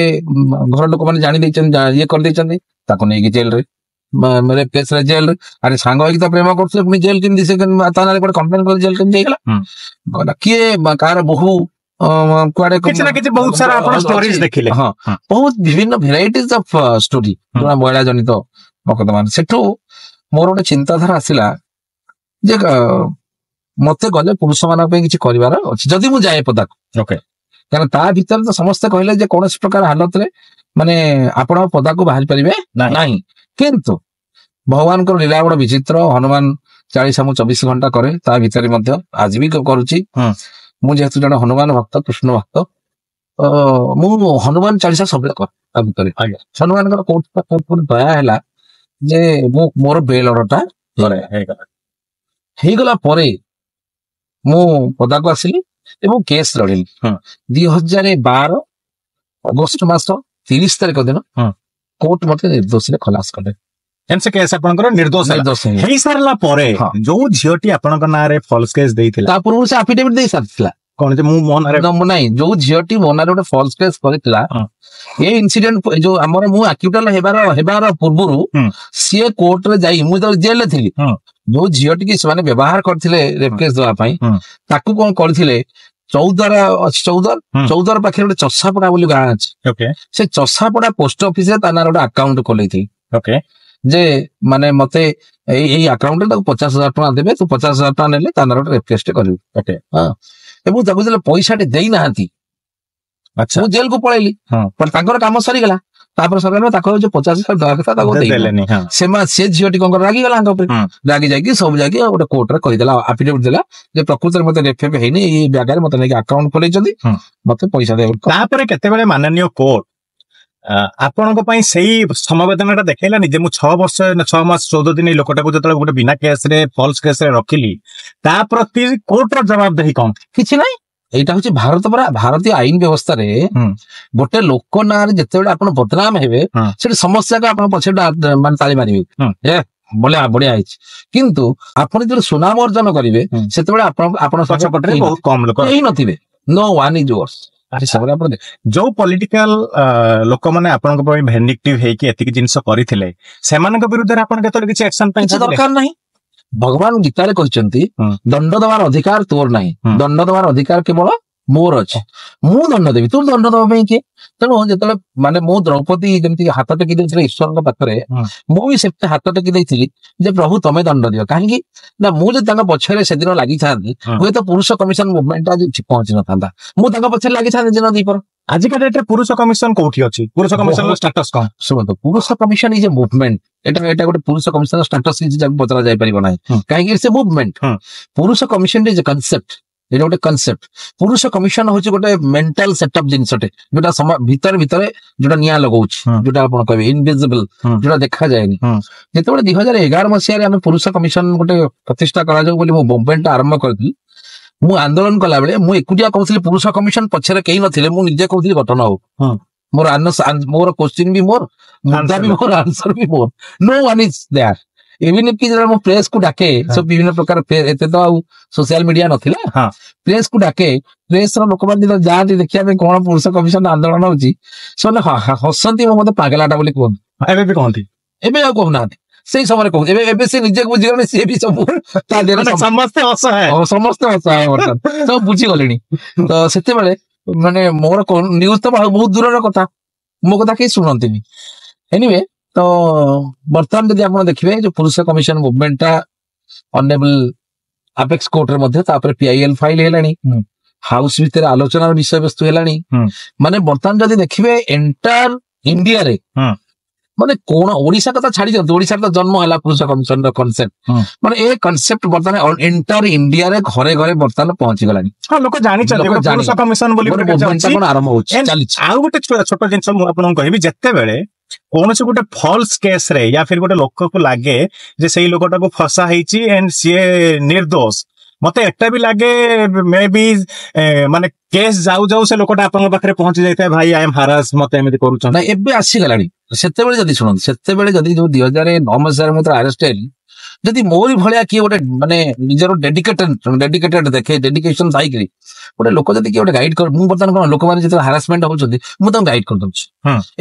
ଘର ଲୋକମାନେ ଜାଣି ଦେଇଛନ୍ତି, ଇଏ କରିଦେଇଛନ୍ତି, ତାକୁ ନେଇକି ଜେଲରେ, ରେପ୍ କେସରେ ଜେଲରେ। ଆରେ ସାଙ୍ଗ ହେଇକି ତ ପ୍ରେମ କରୁଥିଲେ, ପୁଣି ଜେଲ କେମିତି? ସେ ତା ନାଁରେ ଗୋଟେ କମ୍ପ୍ଲେନ କରି ଜେଲ କେମିତି ହେଇଗଲା? ଗଲା କିଏ କାହାର ବୋହୂ କୁଆଡେ କିଛି ନା କିଛି ବହୁତ ସାରା ଆପଣ ଷ୍ଟୋରିଜ ଦେଖିଲେ। ହଁ, ବହୁତ ବିଭିନ୍ନ ଭେରାଇଟିଜ ଅଫ ଷ୍ଟୋରି ଯୋଉଟା ମହିଳା ଜନିତ ମକଦ୍ଦମା। ସେଠୁ ମୋର ଗୋଟେ ଚିନ୍ତାଧାରା ଆସିଲା ଯେ ମତେ ଗଲେ ପୁରୁଷ ମାନଙ୍କ ପାଇଁ କିଛି କରିବାର ଅଛି ଯଦି ମୁଁ ଯାଏ ପଦାକୁ। କାରଣ ତା ଭିତରେ ତ ସମସ୍ତେ କହିଲେ ଯେ କୌଣସି ପ୍ରକାର ହାଲତରେ ମାନେ ଆପଣ ପଦାକୁ ବାହାରି ପାରିବେ ନାହିଁ। କିନ୍ତୁ ଭଗବାନଙ୍କର ଲୀଳା ବଡ ବିଚିତ୍ର। ହନୁମାନ ଚାଳିଶା ମୁଁ 24 ଘଣ୍ଟା କରେ, ତା ଭିତରେ ମଧ୍ୟ ଆଜି ବି କରୁଛି। ମୁଁ ଯେହେତୁ ଜଣେ ହନୁମାନ ଭକ୍ତ, କୃଷ୍ଣ ଭକ୍ତ, ତ ମୁଁ ହନୁମାନ ଚାଳିଶା ସବୁବେଳେ କରେ। ତା ଭିତରେ ହନୁମାନଙ୍କର କୋଉଠି ନା କୋଉଠି ଦୟା ହେଲା ଯେ ମୁଁ ମୋର ବେଲ୍ ଅର୍ଡରଟା ହେଇଗଲା ପରେ ମୁଁ ପଦାକୁ ଆସିଲି ଏବଂ କେସ୍ ଲଢିଲି। 2012 ଅଗଷ୍ଟ ମାସ 30 ତାରିଖ ଦିନ କୋର୍ଟ ମତେ ନିର୍ଦ୍ଦୋଷରେ ଖଲାସ କଲେ। ସେ କେସ୍ ଆପଣଙ୍କର ନିର୍ଦ୍ଦୋଷ ହେଇସାରିଲା ପରେ ଯୋଉ ଝିଅଟି ଆପଣଙ୍କ ନାଁରେ ଫଲ୍ସ କେସ୍ ଦେଇଥିଲା, ତା ପୂର୍ବରୁ ସେ ଆଫିଡେଭିଟ ଦେଇ ସାରିଥିଲା। କଣ ଯେ ମୁଁ ମୋ ନାଁରେ ନାଇଁ, ଯୋଉ ଝିଅଟି ମୋ ନାଁରେ ଗୋଟେ ଫଲ୍ସ କେସ୍ କରିଥିଲା, ଏ ଇନସିଡେଣ୍ଟ ଯୋଉ ଆମର ମୁଁ ଆକ୍ୟୁଟାଲ ହେବାର ପୂର୍ବରୁ ସିଏ କୋର୍ଟରେ ଯାଇ, ମୁଁ ଯେତେବେଳେ ଜେଲରେ ଥିଲି, ଯୋଉ ଝିଅଟିକି ସେମାନେ ବ୍ୟବହାର କରିଥିଲେ ରେପ୍ କେସ୍ ଦେବା ପାଇଁ, ତାକୁ କଣ କରିଥିଲେ, ଚୌଦ୍ୱାର ଅଛି, ଚୌଦ୍ୱାର ପାଖରେ ଗୋଟେ ଚଷାପଡା ବୋଲି ଗାଁ ଅଛି, ସେ ଚଷାପଡା ପୋଷ୍ଟ ଅଫିସରେ ତା ନାଁରେ ଗୋଟେ ଆକାଉଣ୍ଟ ଖୋଲେଇଥିଲେ ଯେ ମାନେ ମତେ ଏଇ ଆକାଉଣ୍ଟରେ ତାକୁ 50,000 ଟଙ୍କା ଦେବେ, ତୁ 50,000 ଟଙ୍କା ନେଲେ ତା ନାଁରେ ଗୋଟେ ରେପ୍ କେସ୍ କରିବୁ। ହଁ, ଏବଂ ତାକୁ ଯେତେବେଳେ ପଇସାଟି ଦେଇନାହାନ୍ତି, ମୁଁ ଜେଲକୁ ପଳେଇଲି, ତାଙ୍କର କାମ ସରିଗଲା। ତାପରେ ସରକାର ତାକୁ ଯୋଉ 50,000 ଦେବା କଥା ତାକୁ ଦେଲେନି। ସେ ଝିଅଟି କଣ ରାଗିଗଲା ତାଙ୍କ ଉପରେ, ରାଗି ଯାଇକି ସବୁ ଯାଇକି ଗୋଟେ କୋର୍ଟରେ କହିଦେଲା, ଆଫିଡେଭିଟ ଦେଲା ଯେ ପ୍ରକୃତରେ ମତେ ରେପ୍ ହେଇନି, ଏଇ ଜାଗାରେ ମତେ ନେଇକି ଆକାଉଣ୍ଟ ଖୋଲେଇଛନ୍ତି, ମତେ ପଇସା ଦେବେ। ତାପରେ କେତେବେଳେ ମାନନୀୟ କୋର୍ଟ ଆପଣଙ୍କ ପାଇଁ ସେଇ ସମବେଦନାଟା ଦେଖେଇଲାନି ଯେ ମୁଁ 6 ବର୍ଷ 6 ମାସ 14 ଦିନ ଏଇ ଲୋକଟାକୁ ଯେତେବେଳେ ଗୋଟେ ବିନା କେସରେ ଫଲ୍ସ କେସରେ ରଖିଲି, ତା ପ୍ରତି କୋର୍ଟର ଜବାବଦେହି କଣ? କିଛି ନାହିଁ। ଏଇଟା ହଉଛି ଭାରତ ପରା, ଭାରତୀୟ ଆଇନ ବ୍ୟବସ୍ଥାରେ ଗୋଟେ ଲୋକ ନାଁରେ ଯେତେବେଳେ ଆପଣ ବଦନାମ ହେବେ, ସେଠି ସମସ୍ତେ ଆପଣ ପଛରେ ମାନେ ତାଳି ମାରିବେ, ଏ ବଢିଆ ବଢିଆ ହେଇଛି। କିନ୍ତୁ ଆପଣ ଯେତେବେଳେ ସୁନାମ ଅର୍ଜନ କରିବେ, ସେତେବେଳେ ଆପଣ ପଛପଟରେ ବହୁତ କମ ଲୋକ କେହି ନଥିବେ। No one is yours. ଯୋଉ ପଲିଟିକାଲ ଲୋକମାନେ ଆପଣଙ୍କ ପାଇଁ ଭେଣ୍ଡିକ୍ଟିଭ ହେଇକି ଏତିକି ଜିନିଷ କରିଥିଲେ, ସେମାନଙ୍କ ବିରୁଦ୍ଧରେ ଆପଣ କେତେବେଳେ କିଛି ଆକ୍ସନ ପାଇଁ କିଛି ଦରକାର ନାହିଁ। ଭଗବାନ ଗୀତାରେ କହିଛନ୍ତି ଦଣ୍ଡ ଦେବାର ଅଧିକାର ତୋର ନାହିଁ, ଦଣ୍ଡ ଦେବାର ଅଧିକାର କେବଳ ମୋର ଅଛି, ମୁଁ ଦଣ୍ଡ ଦେବି, ତୁ ଦଣ୍ଡ ଦେବା ପାଇଁ କିଏ? ତେଣୁ ଯେତେବେଳେ ମାନେ ମୁଁ ଦ୍ରୌପଦୀ ଯେମିତି ହାତ ଟେକି ଦେଇଥିଲେ ଈଶ୍ୱରଙ୍କ ପାଖରେ, ମୁଁ ବି ସେମିତି ହାତ ଟେକି ଦେଇଥିଲି ଯେ ପ୍ରଭୁ ତମେ ଦଣ୍ଡ ଦିଅ। କାହିଁକି ନା ମୁଁ ଯଦି ତାଙ୍କ ପଛରେ ସେଦିନ ଲାଗିଥାନ୍ତି, ହୁଏତ ପୁରୁଷ କମିଶନ ମୁଭମେଣ୍ଟ ଆଜି ପହଞ୍ଚି ନଥାନ୍ତା। ମୁଁ ତାଙ୍କ ପଛରେ ଲାଗିଥାନ୍ତି ଦିନ ଦ୍ୱିପହର। ଆଜିକା ଡେଟ୍ରେ ପୁରୁଷ କମିଶନ କୋଉଠି ଅଛି? ପୁରୁଷ କମିଶନର ଷ୍ଟାଟସ କଣ? ଶୁଣନ୍ତୁ, ପୁରୁଷ କମିଶନ is a movement. ଏଟା ଗୋଟେ ପୁରୁଷ କମିଶନର ଷ୍ଟାଟସ କିଛି ଯାକୁ ପଚରା ଯାଇପାରିବ ନାହିଁ, କାହିଁକି ସେ ମୁଭମେଣ୍ଟ। ପୁରୁଷ କମିଶନ is a concept, ଏଇଟା ଗୋଟେ କନସେପ୍ଟ। ପୁରୁଷ କମିଶନ ହଉଛି ଗୋଟେ ମେଣ୍ଟାଲ ସେଟଅପ୍ ଜିନିଷଟେ, ଯୋଉଟା ଭିତରେ ଭିତରେ ଯୋଉଟା ନିଆଁ ଲଗାଉଛି, ଯୋଉଟା ଆପଣ କହିବେ ଇନଭିଜିବଲ, ଯୋଉଟା ଦେଖାଯାଏନି। ଯେତେବେଳେ 2011 ମସିହାରେ ଆମେ ପୁରୁଷ କମିଶନ ଗୋଟେ ପ୍ରତିଷ୍ଠା କରାଯାଉ ବୋଲି ମୁଁ ମୁଭମେଣ୍ଟ ଆରମ୍ଭ କରିଥିଲି, ମୁଁ ଆନ୍ଦୋଳନ କଲାବେଳେ ମୁଁ ଏକୁଟିଆ କହୁଥିଲି ପୁରୁଷ କମିଶନ, ପଛରେ କେହି ନଥିଲେ, ମୁଁ ନିଜେ କହୁଥିଲି ଗଠନ ହଉ। ମୋର ମୋର କୋଶ୍ଚିନ୍ ବି ମୋର, ମୁଦ୍ଦା ବି ମୋର, ଆନ୍ସର ବି ମୋର। No one is there. Even କି ଯେତେବେଳେ ମୁଁ ପ୍ରେସ୍ କୁ ଡାକେ, ସବୁ ବିଭିନ୍ନ ପ୍ରକାର, ଏତେ ତ ଆଉ ସୋସିଆଲ ମିଡିଆ ନଥିଲା, ପ୍ରେସ୍ କୁ ଡାକେ, ପ୍ରେସ୍ ର ଲୋକମାନେ ଯେତେବେଳେ ଯାଆନ୍ତି ଦେଖିବା ପାଇଁ କଣ ପୁରୁଷ କମିଶନ ଆନ୍ଦୋଳନ ହଉଛି, ସେମାନେ ହସନ୍ତି, ମତେ ପାଗଲାଟା ବୋଲି କୁହନ୍ତି। ଏବେ ବି କହନ୍ତି? ଏବେ ଆଉ କହୁନାହାନ୍ତି, ସେଇ ସମୟରେ କହୁଛି। ଏବେ ଏବେ ସେ ନିଜେ ବୁଝିଗଲେଣି, ସିଏ ବି ସବୁ ତା ଦେହରେ ସମସ୍ତେ ଅସହାୟ, ସମସ୍ତେ ଅସହାୟ, ବର୍ତ୍ତମାନ ସବୁ ବୁଝିଗଲେଣି। ତ ସେତେବେଳେ ମାନେ ମୋର ନ୍ୟୁଜ ତ ବହୁତ ଦୂରର କଥା, ମୋ କଥା କେହି ଶୁଣନ୍ତିନି। ଏନିୱେ, ତ ବର୍ତ୍ତମାନ ଯଦି ଆପଣ ଦେଖିବେ ଯୋଉ ପୁରୁଷ କମିଶନ ମୁଭମେଣ୍ଟଟା ଅନରେବଲ ଆପେକ୍ସ କୋର୍ଟରେ ମଧ୍ୟ ତାପରେ ପିଆଇଏଲ ଫାଇଲ ହେଲାଣି, ହାଉସ ଭିତରେ ଆଲୋଚନାର ବିଷୟବସ୍ତୁ ହେଲାଣି। ମାନେ ବର୍ତ୍ତମାନ ଯଦି ଦେଖିବେ ଏଣ୍ଟାୟାର ଇଣ୍ଡିଆରେ, ମାନେ କୋଣ ଓଡିଶା କଥା ଛାଡି ଦିଅନ୍ତୁ, ଓଡିଶାରେ ତ ଜନ୍ମ ହେଲା ପୁରୁଷ କମିଶନର କନସେପ୍ଟ, ମାନେ ଏ କନସେପ୍ଟ ବର୍ତ୍ତମାନ ଏଣ୍ଟାୟାର ଇଣ୍ଡିଆରେ ଘରେ ଘରେ ବର୍ତ୍ତମାନ ପହଞ୍ଚିଗଲାଣି। ହଁ, ଲୋକ ଜାଣିଛନ୍ତି ପୁରୁଷ କମିଶନ ବୋଲି କଣ ଆରମ୍ଭ ହଉଛି, ଚାଲିଛି। ଆଉ ଗୋଟେ ଛୋଟ ଜିନିଷ ମୁଁ ଆପଣଙ୍କୁ କହିବି, ଯେତେବେଳେ କୌଣସି ଗୋଟେ ଫଲ୍ସ କେସରେ ୟା ଫିର ଗୋଟେ ଲୋକକୁ ଲାଗେ ଯେ ସେଇ ଲୋକଟାକୁ ଫସା ହେଇଛି ଏଣ୍ଡ ସିଏ ନିର୍ଦ୍ଦୋଷ, ମତେ ଏଟା ବି ଲାଗେ ମେ ବି ମାନେ କେସ୍ ଯାଉ ଯାଉ ସେ ଲୋକଟା ଆପଣଙ୍କ ପାଖରେ ପହଞ୍ଚି ଯାଇଥାଏ, ଭାଇ I M ହାରାସ, ମତେ ଏମିତି କରୁଛନ୍ତି। ଏବେ ଆସିଗଲାଣି। ସେତେବେଳେ ଯଦି ଶୁଣନ୍ତୁ, ସେତେବେଳେ ଯଦି ଯୋଉ 2009 ମସିହାରେ ମୁଁ ଆରେଷ୍ଟ ହେଲି, ଯଦି ମୋରି ଭଳିଆ କିଏ ଗୋଟେ ମାନେ ନିଜର ଡେଡିକେଟେଡ ଦେଖେ, ଡେଡିକେସନ ଥାଇକିରି ଗୋଟେ ଲୋକ ଯଦି କିଏ ଗୋଟେ ଗାଇଡ କର। ମୁଁ ବର୍ତ୍ତମାନ କଣ, ଲୋକମାନେ ଯେତେବେଳେ ହାରାସମେଣ୍ଟ ହଉଛନ୍ତି, ମୁଁ ତାଙ୍କୁ ଗାଇଡ କରିଦଉଛି।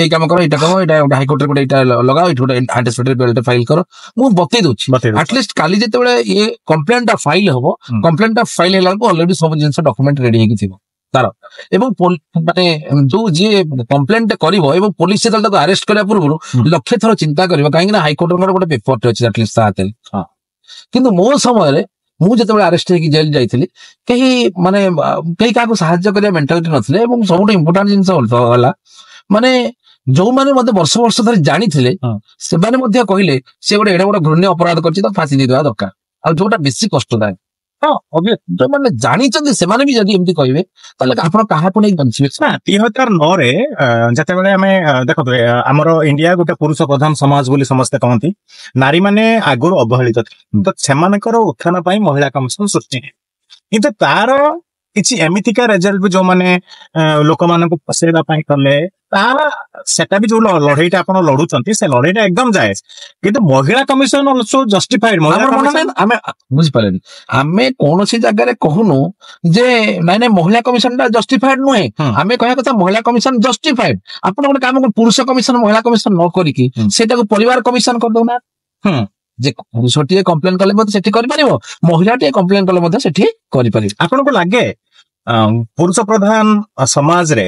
ଏଇ କାମ କର, ଏଇଟା କର, ଏଇଟା ଗୋଟେ ହାଇକୋର୍ଟରେ ଗୋଟେ ଏଇଟା ଲଗାଅ, ଏଇଠି ଗୋଟେ ଆଣ୍ଟିସିପେଟରୀ ବେଲ୍ ଫାଇଲ କର। ମୁଁ ବତେଇ ଦଉଛି। ବତେଇ ଦଉଛି। ଆଟଲିଷ୍ଟ କାଲି ଯେତେବେଳେ ଇଏ କମ୍ପ୍ଲେନ ଟା ଫାଇଲ ହବ, କମ୍ପ୍ଲେନ ଟା ଫାଇଲ ହେଲା ବେଳକୁ ଅଲରେଡି ସବୁ ଜିନିଷ ଡକୁମେଣ୍ଟ ରେଡି ହେଇକି ଥିବ ତାର। ଏବଂ ମାନେ ଯୋଉ ଯିଏ କମ୍ପ୍ଲେନ ଟା କରିବ ଏବଂ ପୋଲିସ ଯେତେବେଳେ ତାକୁ ଆରେଷ୍ଟ କରିବା ପୂର୍ବରୁ ଲକ୍ଷେ ଥର ଚିନ୍ତା କରିବ, କାହିଁକି ନା ହାଇକୋର୍ଟଙ୍କର ଗୋଟେ ପେପରଟେ ଅଛି ଆଟଲିଷ୍ଟ ତା ହାତରେ। କିନ୍ତୁ ମୋ ସମୟରେ ମୁଁ ଯେତେବେଳେ ଆରେଷ୍ଟ ହେଇକି ଜେଲ ଯାଇଥିଲି, କେହି ମାନେ କେହି କାହାକୁ ସାହାଯ୍ୟ କରିବା ମେଣ୍ଟାଲିଟି ନଥିଲେ। ଏବଂ ସବୁଠୁ ଇମ୍ପୋର୍ଟାଣ୍ଟ ଜିନିଷ ହେଲା, ମାନେ ଯୋଉମାନେ ମତେ ବର୍ଷ ବର୍ଷ ଧରି ଜାଣିଥିଲେ, ସେମାନେ ମଧ୍ୟ କହିଲେ ସେ ଗୋଟେ ଏଡେ ବଡ ଘୃଣ୍ୟ ଅପରାଧ କରିଛି, ତାକୁ ଫାଶୀ ଦେଇଦେବା ଦରକାର। ଆଉ ଯୋଉଟା ବେଶୀ କଷ୍ଟଦାୟକ, ହଁ obvious। ଯୋଉମାନେ ଜାଣିଛନ୍ତି ସେମାନେ ବି ଯଦି ଏମିତି କହିବେ, ତାହେଲେ ଆପଣ କାହାକୁ ନେଇ ବଞ୍ଚିବେ? ନା, 2009ରେ ଯେତେବେଳେ ଆମେ ଦେଖନ୍ତୁ, ଆମର ଇଣ୍ଡିଆ ଗୋଟେ ପୁରୁଷ ପ୍ରଧାନ ସମାଜ ବୋଲି ସମସ୍ତେ କହନ୍ତି। ନାରୀମାନେ ଆଗରୁ ଅବହେଳିତ ଥିଲେ, ତ ସେମାନଙ୍କର ଉତ୍ଥାନ ପାଇଁ ମହିଳା କମିଶନ ସୃଷ୍ଟି ହେଲା। କିନ୍ତୁ ତାର କିଛି ଏମିତିକା ରେଜଲ୍ଟ ବି ଯୋଉମାନେ ଲୋକମାନଙ୍କୁ ଫସେଇବା ପାଇଁ କଲେ, ତାର ସେଟା ବି ଯୋଉ ଲଢେଇଟା ଆପଣ ଲଢୁଛନ୍ତି, ସେ ଲଢେଇଟା ଏକଦମ ଜାଏଜ। କିନ୍ତୁ ମହିଳା କମିଶନ ଅଲସୋ ଜଷ୍ଟିଫାଇଡ। ମହିଳା ଆମର ମନେ କମିଶନ ନାହିଁ, ଆମେ ବୁଝିପାରିଲେନି, ଆମେ କୌଣସି ଜାଗାରେ କହୁନୁ ଯେ ନାଇଁ ନାଇଁ, ମହିଳା କମିଶନ ଟା ଜଷ୍ଟିଫାଇଡ ନୁହେଁ। ଆମେ କହିବା କଥା ମହିଳା କମିଶନ ଜଷ୍ଟିଫାଇଡ। ଆପଣ ଗୋଟେ କାମ କରନ୍ତୁ, ପୁରୁଷ କମିଶନ ମହିଳା କମିଶନ ନ କରିକି ସେଇଟାକୁ ପରିବାର କମିଶନ କରିଦଉନା। ଯେ ପୁରୁଷଟିଏ କମ୍ପ୍ଲେନ କଲେ ମଧ୍ୟ ସେଠି କରିପାରିବ, ମହିଳାଟିଏ କମ୍ପ୍ଲେନ କଲେ ମଧ୍ୟ ସେଠି କରିପାରିବ। ଆପଣଙ୍କୁ ଲାଗେ ପୁରୁଷ ପ୍ରଧାନ ସମାଜରେ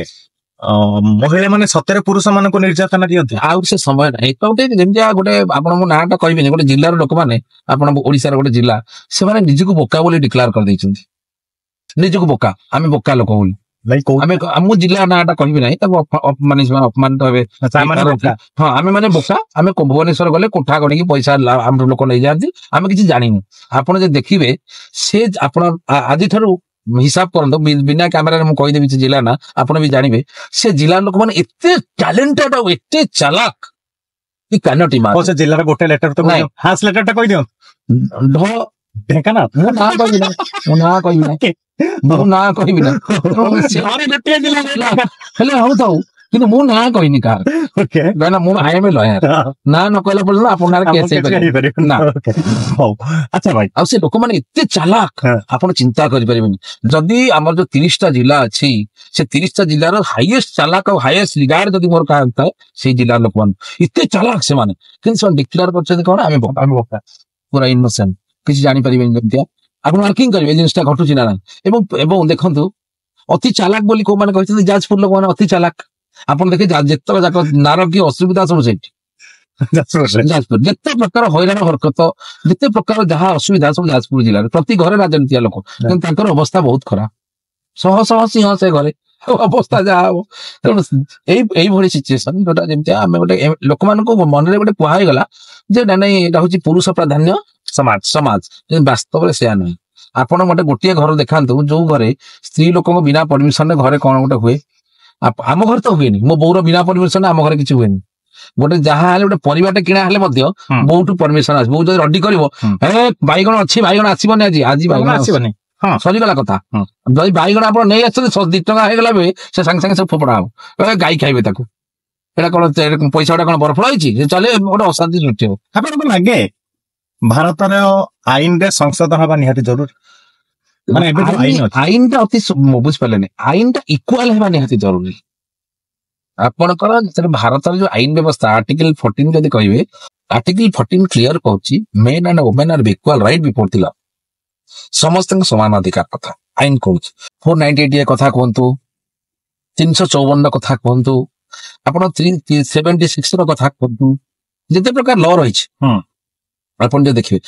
ମହିଳା ମାନେ ସତରେ ପୁରୁଷ ମାନଙ୍କୁ ନିର୍ଯାତନା ଦିଅନ୍ତି? ଆଉ ସେ ସମୟ ନାହିଁ ତ। ଗୋଟେ ଯେମିତିଆ ଗୋଟେ ଆପଣ, ମୋ ନାଁଟା କହିବିନି, ଗୋଟେ ଜିଲ୍ଲାର ଲୋକମାନେ, ଆପଣ ଓଡିଶାର ଗୋଟେ ଜିଲ୍ଲା, ସେମାନେ ନିଜକୁ ବୋକା ବୋଲି ଡିକ୍ଲାର କରିଦେଇଛନ୍ତି। ନିଜକୁ ବୋକା, ଆମେ ବୋକା ଲୋକ ବୋଲି। ନାଇଁ, କୋଉ ଆମେ, ମୁଁ ଜିଲ୍ଲା ନାଁଟା କହିବି ନାହିଁ, ତାକୁ ମାନେ ସେମାନେ ଅପମାନିତ ହେବେ। ସେମାନେ ବୋକା। ହଁ, ଆମେ ମାନେ ବୋକା। ଆମେ ଭୁବନେଶ୍ୱର ଗଲେ କୋଠା ଗଣିକି ପଇସା ଆମର ଲୋକ ନେଇଯାଆନ୍ତି, ଆମେ କିଛି ଜାଣିନୁ। ଆପଣ ଯଦି ଦେଖିବେ, ସେ ଆପଣ ଆଜିଠାରୁ ହିସାବ କରନ୍ତୁ, ବିନା କ୍ୟାମେରାରେ ମୁଁ କହିଦେବି ସେ ଜିଲ୍ଲା ନା, ଆପଣ ବି ଜାଣିବେ। ସେ ଜିଲ୍ଲାର ଲୋକମାନେ ଏତେ ଟ୍ୟାଲେଣ୍ଟେଡ ଆଉ ଏତେ ଚାଲାକ କି କାନଟ ହଉ, ସେ ଜିଲ୍ଲାର ଗୋଟେ ଲେଟର ତ ନାଇଁ। ଫାର୍ଷ୍ଟ ଲେଟର ଟା କହିଦିଅନ୍ତୁ। ଢ। ଢେଙ୍କାନାଳ? ମୁଁ ନାଁ କହିବି ନା, ମୁଁ ନାଁ କହିବି ନା, ମୁଁ ନାଁ କହିବି ନା। ତେଣୁ ଘରେ ଗୋଟିଏ ଜିଲ୍ଲା। ହେଲେ ହଉଥାଉ, କିନ୍ତୁ ମୁଁ ନାଁ କହିନି କାହାର। କାହିଁକିନା ମୁଁ, I M A lawyer, ନାଁ ନ କହିଲା ପର୍ଯ୍ୟନ୍ତ ଆପଣଙ୍କ ନାଁରେ କେସ୍ ହେଇପାରିବ ନା। ହଉ, ଆଚ୍ଛା ଭାଇ। ଆଉ ସେ ଲୋକମାନେ ଏତେ ଚାଲାକ, ଆପଣ ଚିନ୍ତା କରିପାରିବେନି। ଯଦି ଆମର ଯୋଉ 30ଟା ଜିଲ୍ଲା ଅଛି, ସେ 30ଟା ଜିଲ୍ଲାର ହାଇଏଷ୍ଟ ଚାଲାକ ଆଉ ହାଇଏଷ୍ଟ ରିଗାର୍ଡ ଯଦି ମୋର କାହାର ଥାଏ, ସେଇ ଜିଲ୍ଲାର ଲୋକମାନେ ଏତେ ଚାଲାକ ସେମାନେ। କିନ୍ତୁ ସେମାନେ ଡିକ୍ଲେୟାର କରିଛନ୍ତି କଣ? ଆମେ ବୋକା, ଆମେ ବୋକା, ପୁରା ଇନୋସେଣ୍ଟ, କିଛି ଜାଣିପାରିବେନି। ଯେମିତିଆ ଆପଣ ମାର୍କିଂ କରିବେ, ଏ ଜିନିଷଟା ଘଟୁଛି ନା ନାହିଁ। ଏବଂ ଦେଖନ୍ତୁ, ଅତି ଚାଲାକ ବୋଲି କୋଉମାନେ କହିଛନ୍ତି? ଯାଜପୁର ଲୋକମାନେ ଅତି ଚାଲାକ। ଆପଣ ଦେଖିବେ, ଯେତେକ ଯାକ ନାରକୀୟ ଅସୁବିଧା ସବୁ ସେଇଠି ଯାଜପୁରରେ। ଯାଜପୁର ଯେତେ ପ୍ରକାର ହଇରାଣ ହରକତ, ଯେତେ ପ୍ରକାର ଯାହା ଅସୁବିଧା, ସବୁ ଯାଜପୁର ଜିଲ୍ଲାରେ। ପ୍ରତି ଘରେ ରାଜନୀତିଆ ଲୋକ, କିନ୍ତୁ ତାଙ୍କର ଅବସ୍ଥା ବହୁତ ଖରାପ। ଶହ ଶହ ସିଂହ ସେ ଘରେ, ଆଉ ଅବସ୍ଥା ଯାହା ହବ। ତେଣୁ ଏଇଭଳି ସିଚୁଏସନ ଯୋଉଟା ଯେମିତି ଆମେ ଗୋଟେ ଲୋକମାନଙ୍କୁ ମନରେ ଗୋଟେ କୁହା ହେଇଗଲା ଯେ ନାଇଁ ନାଇଁ, ଏଇଟା ହଉଛି ପୁରୁଷ ପ୍ରାଧାନ୍ୟ ସମାଜ, କିନ୍ତୁ ବାସ୍ତବରେ ସେୟା ନୁହେଁ। ଆପଣ ଗୋଟେ ଗୋଟିଏ ଘର ଦେଖାନ୍ତୁ, ଯୋଉ ଘରେ ସ୍ତ୍ରୀ ଲୋକଙ୍କ ବିନା ପରମିଶନରେ ଘରେ କଣ ଗୋଟେ ହୁଏ। ଆମ ଘରେ ତ ହୁଏନି। ମୋ ବୋଉର ବିନା ପରମିଶନରେ ଆମ ଘରେ କିଛି ହୁଏନି। ଗୋଟେ ଯାହା ହେଲେ, ଗୋଟେ ପରିବାଟେ କିଣା ହେଲେ ମଧ୍ୟ ବୋଉଠୁ ପରମିଶନ ଆସିବ। ବୋଉ ଯଦି ରଡି କରିବ, ଏ ବାଇଗଣ ଅଛି, ବାଇଗଣ ଆସିବନି ଆଜି, ଆଜି ବାଇଗଣ ଆସିବନି, ହଁ। ସରିଗଲା କଥା। ଯଦି ବାଇଗଣ ଆପଣ ନେଇ ଆସୁଛନ୍ତି, 2 ଟଙ୍କା ହେଇଗଲା ବି ସେ ସାଙ୍ଗେ ସାଙ୍ଗେ ସବୁ ଫୋପଡା ହବ। ଏ ଗାଈ ଖାଇବେ ତାକୁ, ଏଇଟା କଣ ପଇସା ଗୁଟା କଣ ବରଫ ହେଇଛି? ସେ ଚାଲେ, ଗୋଟେ ଅଶାନ୍ତି ସୃଷ୍ଟି ହବ। ଆପଣଙ୍କୁ ଲାଗେ ଭାରତର ଆଇନରେ ସଂଶୋଧନ ହବା ନିହାତି ଜରୁରୀ? ମାନେ ଏବେ ଯୋଉ ଆଇନ ଅଛି। ଆଇନଟା ଅତି ମୁଁ ବୁଝିପାରିଲେନି, ଆଇନଟା ଇକ୍ୱାଲ ହେବା ନିହାତି ଜରୁରୀ। ଆପଣଙ୍କର ଯେତେବେଳେ ଭାରତର ଯୋଉ ଆଇନ ବ୍ୟବସ୍ଥା, ଆର୍ଟିକଲ 14 ଯଦି କହିବେ, ଆର୍ଟିକଲ 14 କ୍ଲିୟର କହୁଛି, men and women are equal right before the law। ସମସ୍ତଙ୍କ ସମାନ ଅଧିକାର କଥା ଆଇନ କହୁଛି। 498 କଥା କୁହନ୍ତୁ, 354 କଥା କୁହନ୍ତୁ, ଆପଣ 376 ର କଥା କୁହନ୍ତୁ, ଯେତେ ପ୍ରକାର ଲ ରହିଛି, ଆପଣ ଯଦି ଦେଖିବେ,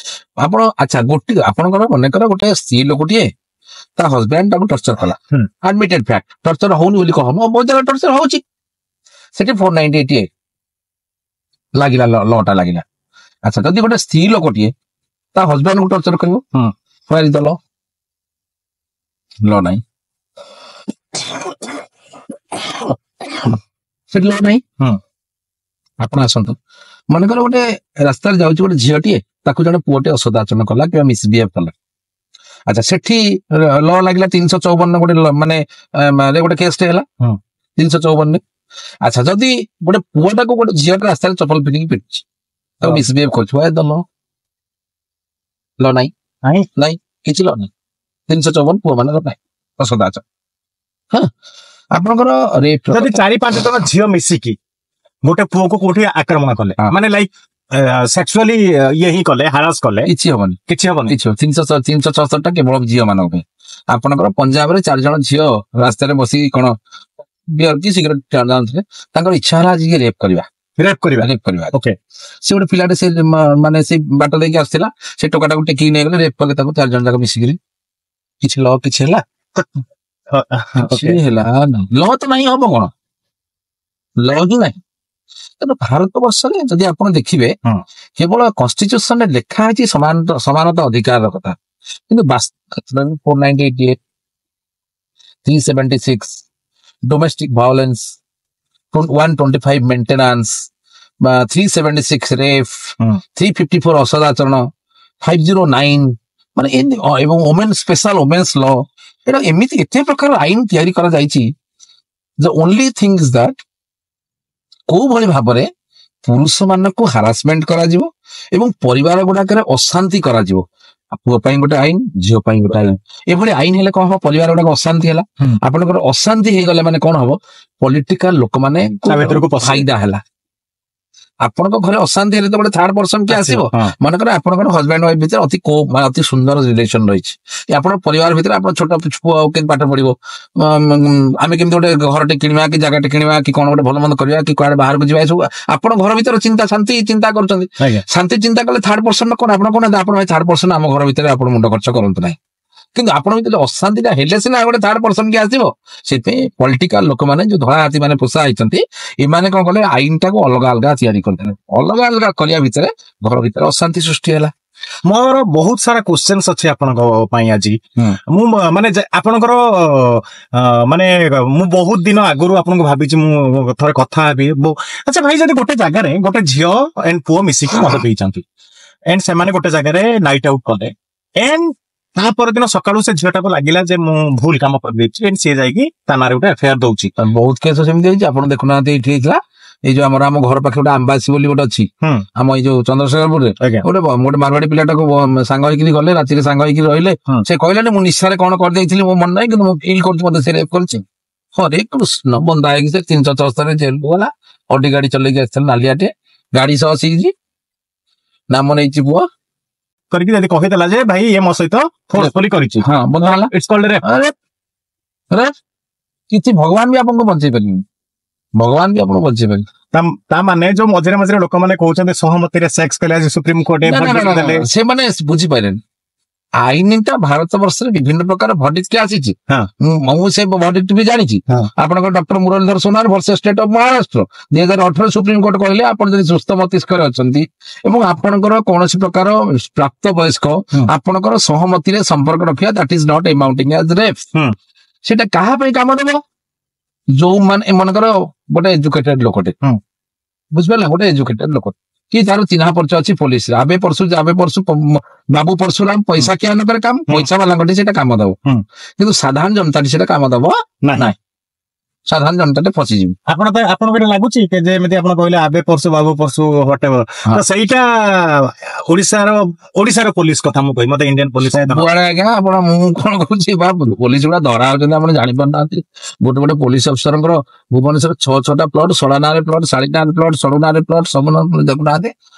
ଆପଣ ଆଚ୍ଛା ଗୋଟେ ଆପଣଙ୍କର ମନେକର ଗୋଟେ ସ୍ତ୍ରୀ ଲୋକଟିଏ ତା ହଜବ୍ୟାଣ୍ଡ ତାକୁ ଟର୍ଚର କଲା। ଆଡମିଟେଡ ଫ୍ୟାକ୍ଟ, ଟର୍ଚର ହଉନି ବୋଲି କହନ, ବହୁତ ଜାଗାରେ ଟର୍ଚର ହଉଛି। ସେଠି 498 ଲାଗିଲା, ଲଟା ଲାଗିଲା। ଆଚ୍ଛା, ଯଦି ଗୋଟେ ସ୍ତ୍ରୀ ଲୋକଟିଏ ତା ହଜବ୍ୟାଣ୍ଡକୁ ଟର୍ଚର କରିବ, Where is the law? ଲ ନାହିଁ ସେଠି, ଲ ନାହିଁ। ଆପଣ ଆସନ୍ତୁ, ମନେକର ଗୋଟେ ରାସ୍ତାରେ ଯାଉଛି ଗୋଟେ ଝିଅଟିଏ, ତାକୁ ଜଣେ ପୁଅଟେ ଅସଦାଚରଣ କଲା କିମ୍ବା ମିସବିହେଭ କଲା। ଆଚ୍ଛା, ସେଠି ଲ ଲାଗିଲା 354 ଗୋଟେ ମାନେ ଗୋଟେ କେସଟେ ହେଲା 354ରେ। ଆଚ୍ଛା, ଯଦି ଗୋଟେ ପୁଅଟାକୁ ଗୋଟେ ଝିଅଟା ରାସ୍ତାରେ ଚପଲ ପିନ୍ଧିକି ପିଟୁଛି, ତାକୁ ମିସବିହେଭ କରୁଛି, why the law? ଲ ନାହିଁ। ନାହିଁ? ନାଇଁ, କିଛି ଲ ନାହିଁ। 354 ପୁଅ ମାନଙ୍କର ନାହିଁ ଅସଦାଚରଣ। ହଁ, ଆପଣଙ୍କର ରେପ୍ ଯଦି 4-5 ଜଣ ଝିଅ ମିଶିକି ଗୋଟେ ପୁଅକୁ କୋଉଠି ଆକ୍ରମଣ କଲେ, ମାନେ ଲାଇକ୍ ସେକ୍ସୁଆଲି ଇଏ ହିଁ କଲେ, ହାରାସ କଲେ, କିଛି ହବନି। କିଛି ହବନି? କିଛି। 366ଟା କେବଳ ଝିଅ ମାନଙ୍କ ପାଇଁ। ଆପଣଙ୍କର ପଞ୍ଜାବରେ 4 ଜଣ ଝିଅ ରାସ୍ତାରେ ବସିକି କଣ ବିୟର କି ସିଗାରେଟ ଟାଣୁଥିଲେ। ତାଙ୍କର ଇଚ୍ଛା ହେଲା ଆଜି ରେପ୍ କରିବା। ରେପ୍ କରିବା। ରେପ୍ କରିବା। ଓକେ। ସେ ଗୋଟେ ପିଲାଟେ, ସେ ମାନେ ସେ ବାଟ ଦେଇକି ଆସୁଥିଲା, ସେ ଟୋକାଟାକୁ ଟେକିକି ନେଇଗଲେ, ରେପ୍ କଲେ ତାକୁ 4 ଜଣ ଯାକ ମିଶିକିରି। କିଛି ଲ କିଛି ହେଲା? କିଛି ହେଲା ଲ ତ ନାହିଁ। ହବ କଣ? ଲ ହିଁ ନାହିଁ। ତେଣୁ ଭାରତ ବର୍ଷରେ ଯଦି ଆପଣ ଦେଖିବେ, କେବଳ କନଷ୍ଟିଚ୍ୟୁସନରେ ଲେଖା ହେଇଛି ସମାନତା ଅଧିକାରର କଥା, କିନ୍ତୁ 498, 376 domestic violence, 125 maintenance, ବା 376 ରେପ୍, 354 ଅସଦାଚରଣ, 509, ମାନେ ଏମିତି ଏବଂ ଓମେନ୍ ସ୍ପେଶାଲ ଓମେନ୍ସ ଲ, ଏଇଟା ଏମିତି ଏତେ ପ୍ରକାର ଆଇନ ତିଆରି କରାଯାଇଛି। The only thing is that କୋଉ ଭଳି ଭାବରେ ପୁରୁଷ ମାନଙ୍କୁ ହାରାସମେଣ୍ଟ କରାଯିବ ଏବଂ ପରିବାର ଗୁଡାକରେ ଅଶାନ୍ତି କରାଯିବ। ପୁଅ ପାଇଁ ଗୋଟେ ଆଇନ, ଝିଅ ପାଇଁ ଗୋଟେ ଆଇନ। ଏଭଳି ଆଇନ ହେଲେ କଣ ହବ? ପରିବାର ଗୁଡାକ ଅଶାନ୍ତି ହେଲା। ଆପଣଙ୍କର ଅଶାନ୍ତି ହେଇଗଲେ ମାନେ କଣ ହବ? ପଲିଟିକାଲ ଲୋକମାନେ ତା ଭିତରକୁ ପଶିବେ। ଫାଇଦା ହେଲା। ଆପଣଙ୍କ ଘରେ ଅଶାନ୍ତି ହେଲେ ତ ଗୋଟେ ଥାର୍ଡ ପର୍ସନ କିଏ ଆସିବ। ମନେକର ଆପଣଙ୍କର ହଜବ୍ୟାଣ୍ଡ ୱାଇଫ ଭିତରେ ଅତି କୋ ମାନେ ଅତି ସୁନ୍ଦର ରିଲେସନ ରହିଛି, କି ଆପଣଙ୍କ ପରିବାର ଭିତରେ ଆପଣ ଛୋଟ ପୁଅ କେମିତି ପାଠ ପଢିବ, ଆମେ କେମିତି ଗୋଟେ ଘରଟେ କିଣିବା କି ଜାଗାଟେ କିଣିବା କି କଣ ଗୋଟେ ଭଲ ମନ୍ଦ କରିବା କି କୁଆଡେ ବାହାରକୁ ଯିବା, ଏସବୁ ଆପଣ ଘର ଭିତରେ ଚିନ୍ତା, ଶାନ୍ତି ଚିନ୍ତା କରୁଛନ୍ତି। ଶାନ୍ତି ଚିନ୍ତା କଲେ ଥାର୍ଡ ପର୍ସନ କଣ ଆପଣ କଣ ଆପଣ ଭାଇ ଥାର୍ଡ ପର୍ସନ ଆମ ଘର ଭିତରେ ଆପଣ ମୁଣ୍ଡ ଖର୍ଚ୍ଚ କରନ୍ତୁ ନାହିଁ। କିନ୍ତୁ ଆପଣ ଭିତରେ ଅଶାନ୍ତିଟା ହେଲେ ସିନା ଗୋଟେ ଥାର୍ଡ ପର୍ସନ କିଏ ଆସିବ। ସେଥିପାଇଁ ପଲିଟିକାଲ ଲୋକମାନେ, ଯୋଉ ଧଳା ହାତୀ ମାନେ ପୋଷା ହେଇଛନ୍ତି, ଏମାନେ କଣ କଲେ? ଆଇନଟାକୁ ଅଲଗା ଅଲଗା ତିଆରି କରିଦେଲେ। ଅଲଗା ଅଲଗା କରିବା ଭିତରେ ଘର ଭିତରେ ଅଶାନ୍ତି ସୃଷ୍ଟି ହେଲା। ମୋର ବହୁତ ସାରା କ୍ୱେଶ୍ଚନ୍ସ ଅଛି ଆପଣଙ୍କ ପାଇଁ ଆଜି। ମୁଁ ମାନେ ଆପଣଙ୍କର ମାନେ ମୁଁ ବହୁତ ଦିନ ଆଗରୁ ଆପଣଙ୍କୁ ଭାବିଛି ମୁଁ ଥରେ କଥା ହେବି। ଆଚ୍ଛା ଭାଇ, ଯଦି ଗୋଟେ ଜାଗାରେ ଗୋଟେ ଝିଅ ଏଣ୍ଡ ପୁଅ ମିଶିକି ମଦ ପିଇଛନ୍ତି ଏଣ୍ଡ ସେମାନେ ଗୋଟେ ଜାଗାରେ ନାଇଟ୍ ଆଉଟ୍ କଲେ ଏଣ୍ଡ ତା ପରଦିନ ସକାଳୁ ସେ ଝିଅଟାକୁ ଲାଗିଲା ଯେ ମୁଁ ଭୁଲ କାମ କରିଦେଇଛି ଏଣ୍ଡ ସିଏ ଯାଇକି ତା ନାଁରେ ଗୋଟେ ଏଫଆଇଆର ଦଉଛି। ବହୁତ କେସ୍ ସେମିତି ହେଇଛି। ଆପଣ ଦେଖୁନାହାନ୍ତି, ଏଇଠି ହେଇଥିଲା, ଏଇ ଯୋଉ ଆମର ଆମ ଘର ପାଖରେ ଗୋଟେ ଆମ୍ବାସି ବୋଲି ଗୋଟେ ଅଛି, ଆମ ଏଇ ଯୋଉ ଚନ୍ଦ୍ରଶେଖରପୁରରେ, ଗୋଟେ ଗୋଟେ ମାରବାଡି ପିଲାଟାକୁ ସାଙ୍ଗ ହେଇକିରି ଗଲେ, ରାତିରେ ସାଙ୍ଗ ହେଇକି ରହିଲେ। ସେ କହିଲାନି, ମୁଁ ନିଶାରେ କଣ କରିଦେଇଥିଲି ମୋ ମନେ ନାହିଁ, କିନ୍ତୁ ମୁଁ ଫିଲ୍ କରୁଛି ମତେ ସେ ରେପ୍ କରିଛି। ହରେ କୃଷ୍ଣ, ବନ୍ଧା ହେଇକି ସେ 374 ଜେଲକୁ ଗଲା। ଅଡି ଗାଡି ଚଲେଇକି ଆସିଥିଲା, ନାଲିଆଟେ ଗାଡି ସହ ଆସିକି ନାମ ନେଇଛି ପୁଅ। କରିକି ଯଦି କହିଦେଲା ଯେ ଭାଇ, ଇଏ ମୋ ସହିତ ଫୋର୍ସଫୁଲି କରିଛି, ହଁ, ବନ୍ଧା ହେଲା। It's called rape. ଆରେ ରେପ୍। କିଛି ଭଗବାନ ବି ଆପଣଙ୍କୁ ବଞ୍ଚେଇ ପାରିବେନି। ଭଗବାନ ବି ଆପଣଙ୍କୁ ବଞ୍ଚେଇ ପାରିବେନି। ତା ମାନେ ଯୋଉ ମଝିରେ ମଝିରେ ଲୋକମାନେ କହୁଛନ୍ତି ସହମତିରେ ସେକ୍ସ କଲେ, ଆଜି ସୁପ୍ରିମକୋର୍ଟ ନା, ନା, ନା, ନା, ଦେଲେ। ନା, ସେମାନେ ବୁଝିପାରିଲେନି। ଆଇନଟା ଭାରତ ବର୍ଷରେ ବିଭିନ୍ନ ପ୍ରକାର ଭର୍ଡିକ୍ଟ ଆସିଛି। ମୁଁ ସେ ଭର୍ଡିକ୍ଟ ବି ଜାଣିଛି। ଆପଣଙ୍କର doctor Muralidhar Sonar versus state of Maharashtra, 2018 supreme court କହିଲେ, ଆପଣ ଯଦି ସୁସ୍ଥ ମସ୍ତିଷ୍କରେ ଅଛନ୍ତି ଏବଂ ଆପଣଙ୍କର କୌଣସି ପ୍ରକାର ପ୍ରାପ୍ତ ବୟସ୍କ, ଆପଣଙ୍କର ସହମତିରେ ସମ୍ପର୍କ ରଖିବା, that is not amounting as rape. ସେଟା କାହା ପାଇଁ କାମ ଦେବ? ଯୋଉମାନେ ମନେକର ଗୋଟେ ଏଜୁକେଟେଡ ଲୋକଟେ, ବୁଝିପାରିଲେ, ଗୋଟେ ଏଜୁକେଟେଡ ଲୋକ କି ତାର ଚିହ୍ନା ପରିଚୟ ଅଛି ପୋଲିସରେ, ଆବେ ପରଶୁ ଆବେ ପରଶୁ ବାବୁ ପରଶୁରାମ ପଇସା କିଆ ନ କରେ କାମ, ପଇସା ବାଲାଙ୍କଠି ସେଇଟା କାମ ଦବ, କିନ୍ତୁ ସାଧାରଣ ଜନତାଟି ସେଇଟା କାମ ଦବ ନାହିଁ। ନାହିଁ। ସାଧାରଣ ଜନତାଟେ ଫସିଯିବ। ଆପଣ ତ ଆପଣଙ୍କୁ ଏଇଟା ଲାଗୁଛି କି ଯେ ଏମିତି ଆପଣ କହିଲେ ଆବେ ପରଶୁ ବାବୁ ପରଶୁ ହ୍ୱାଟ, ତ ସେଇଟା ଓଡିଶାର ପୋଲିସ କଥା ମୁଁ କହିବି, ମତେ ଇଣ୍ଡିଆନ ପୋଲିସ ସବୁଆଡେ ଆଜ୍ଞା। ଆପଣ ମୁଁ କଣ କହୁଛି ବା, ପୋଲିସ ଗୁଡା ଧରା ହଉଛନ୍ତି, ଆପଣ ଜାଣିପାରୁନାହାନ୍ତି। ଗୋଟେ ଗୋଟେ ପୋଲିସ ଅଫିସରଙ୍କର ଭୁବନେଶ୍ୱର ଛଅ ଛଅଟା ପ୍ଲଟ, ଶଳା ନାଁରେ ପ୍ଲଟ, ଶାଳୀ ନାଁରେ ପ୍ଲଟ, ସଡ଼ୁ ନାଁରେ ପ୍ଲଟ, ସବୁ ନାଁ ଦେଖୁନାହାନ୍ତି।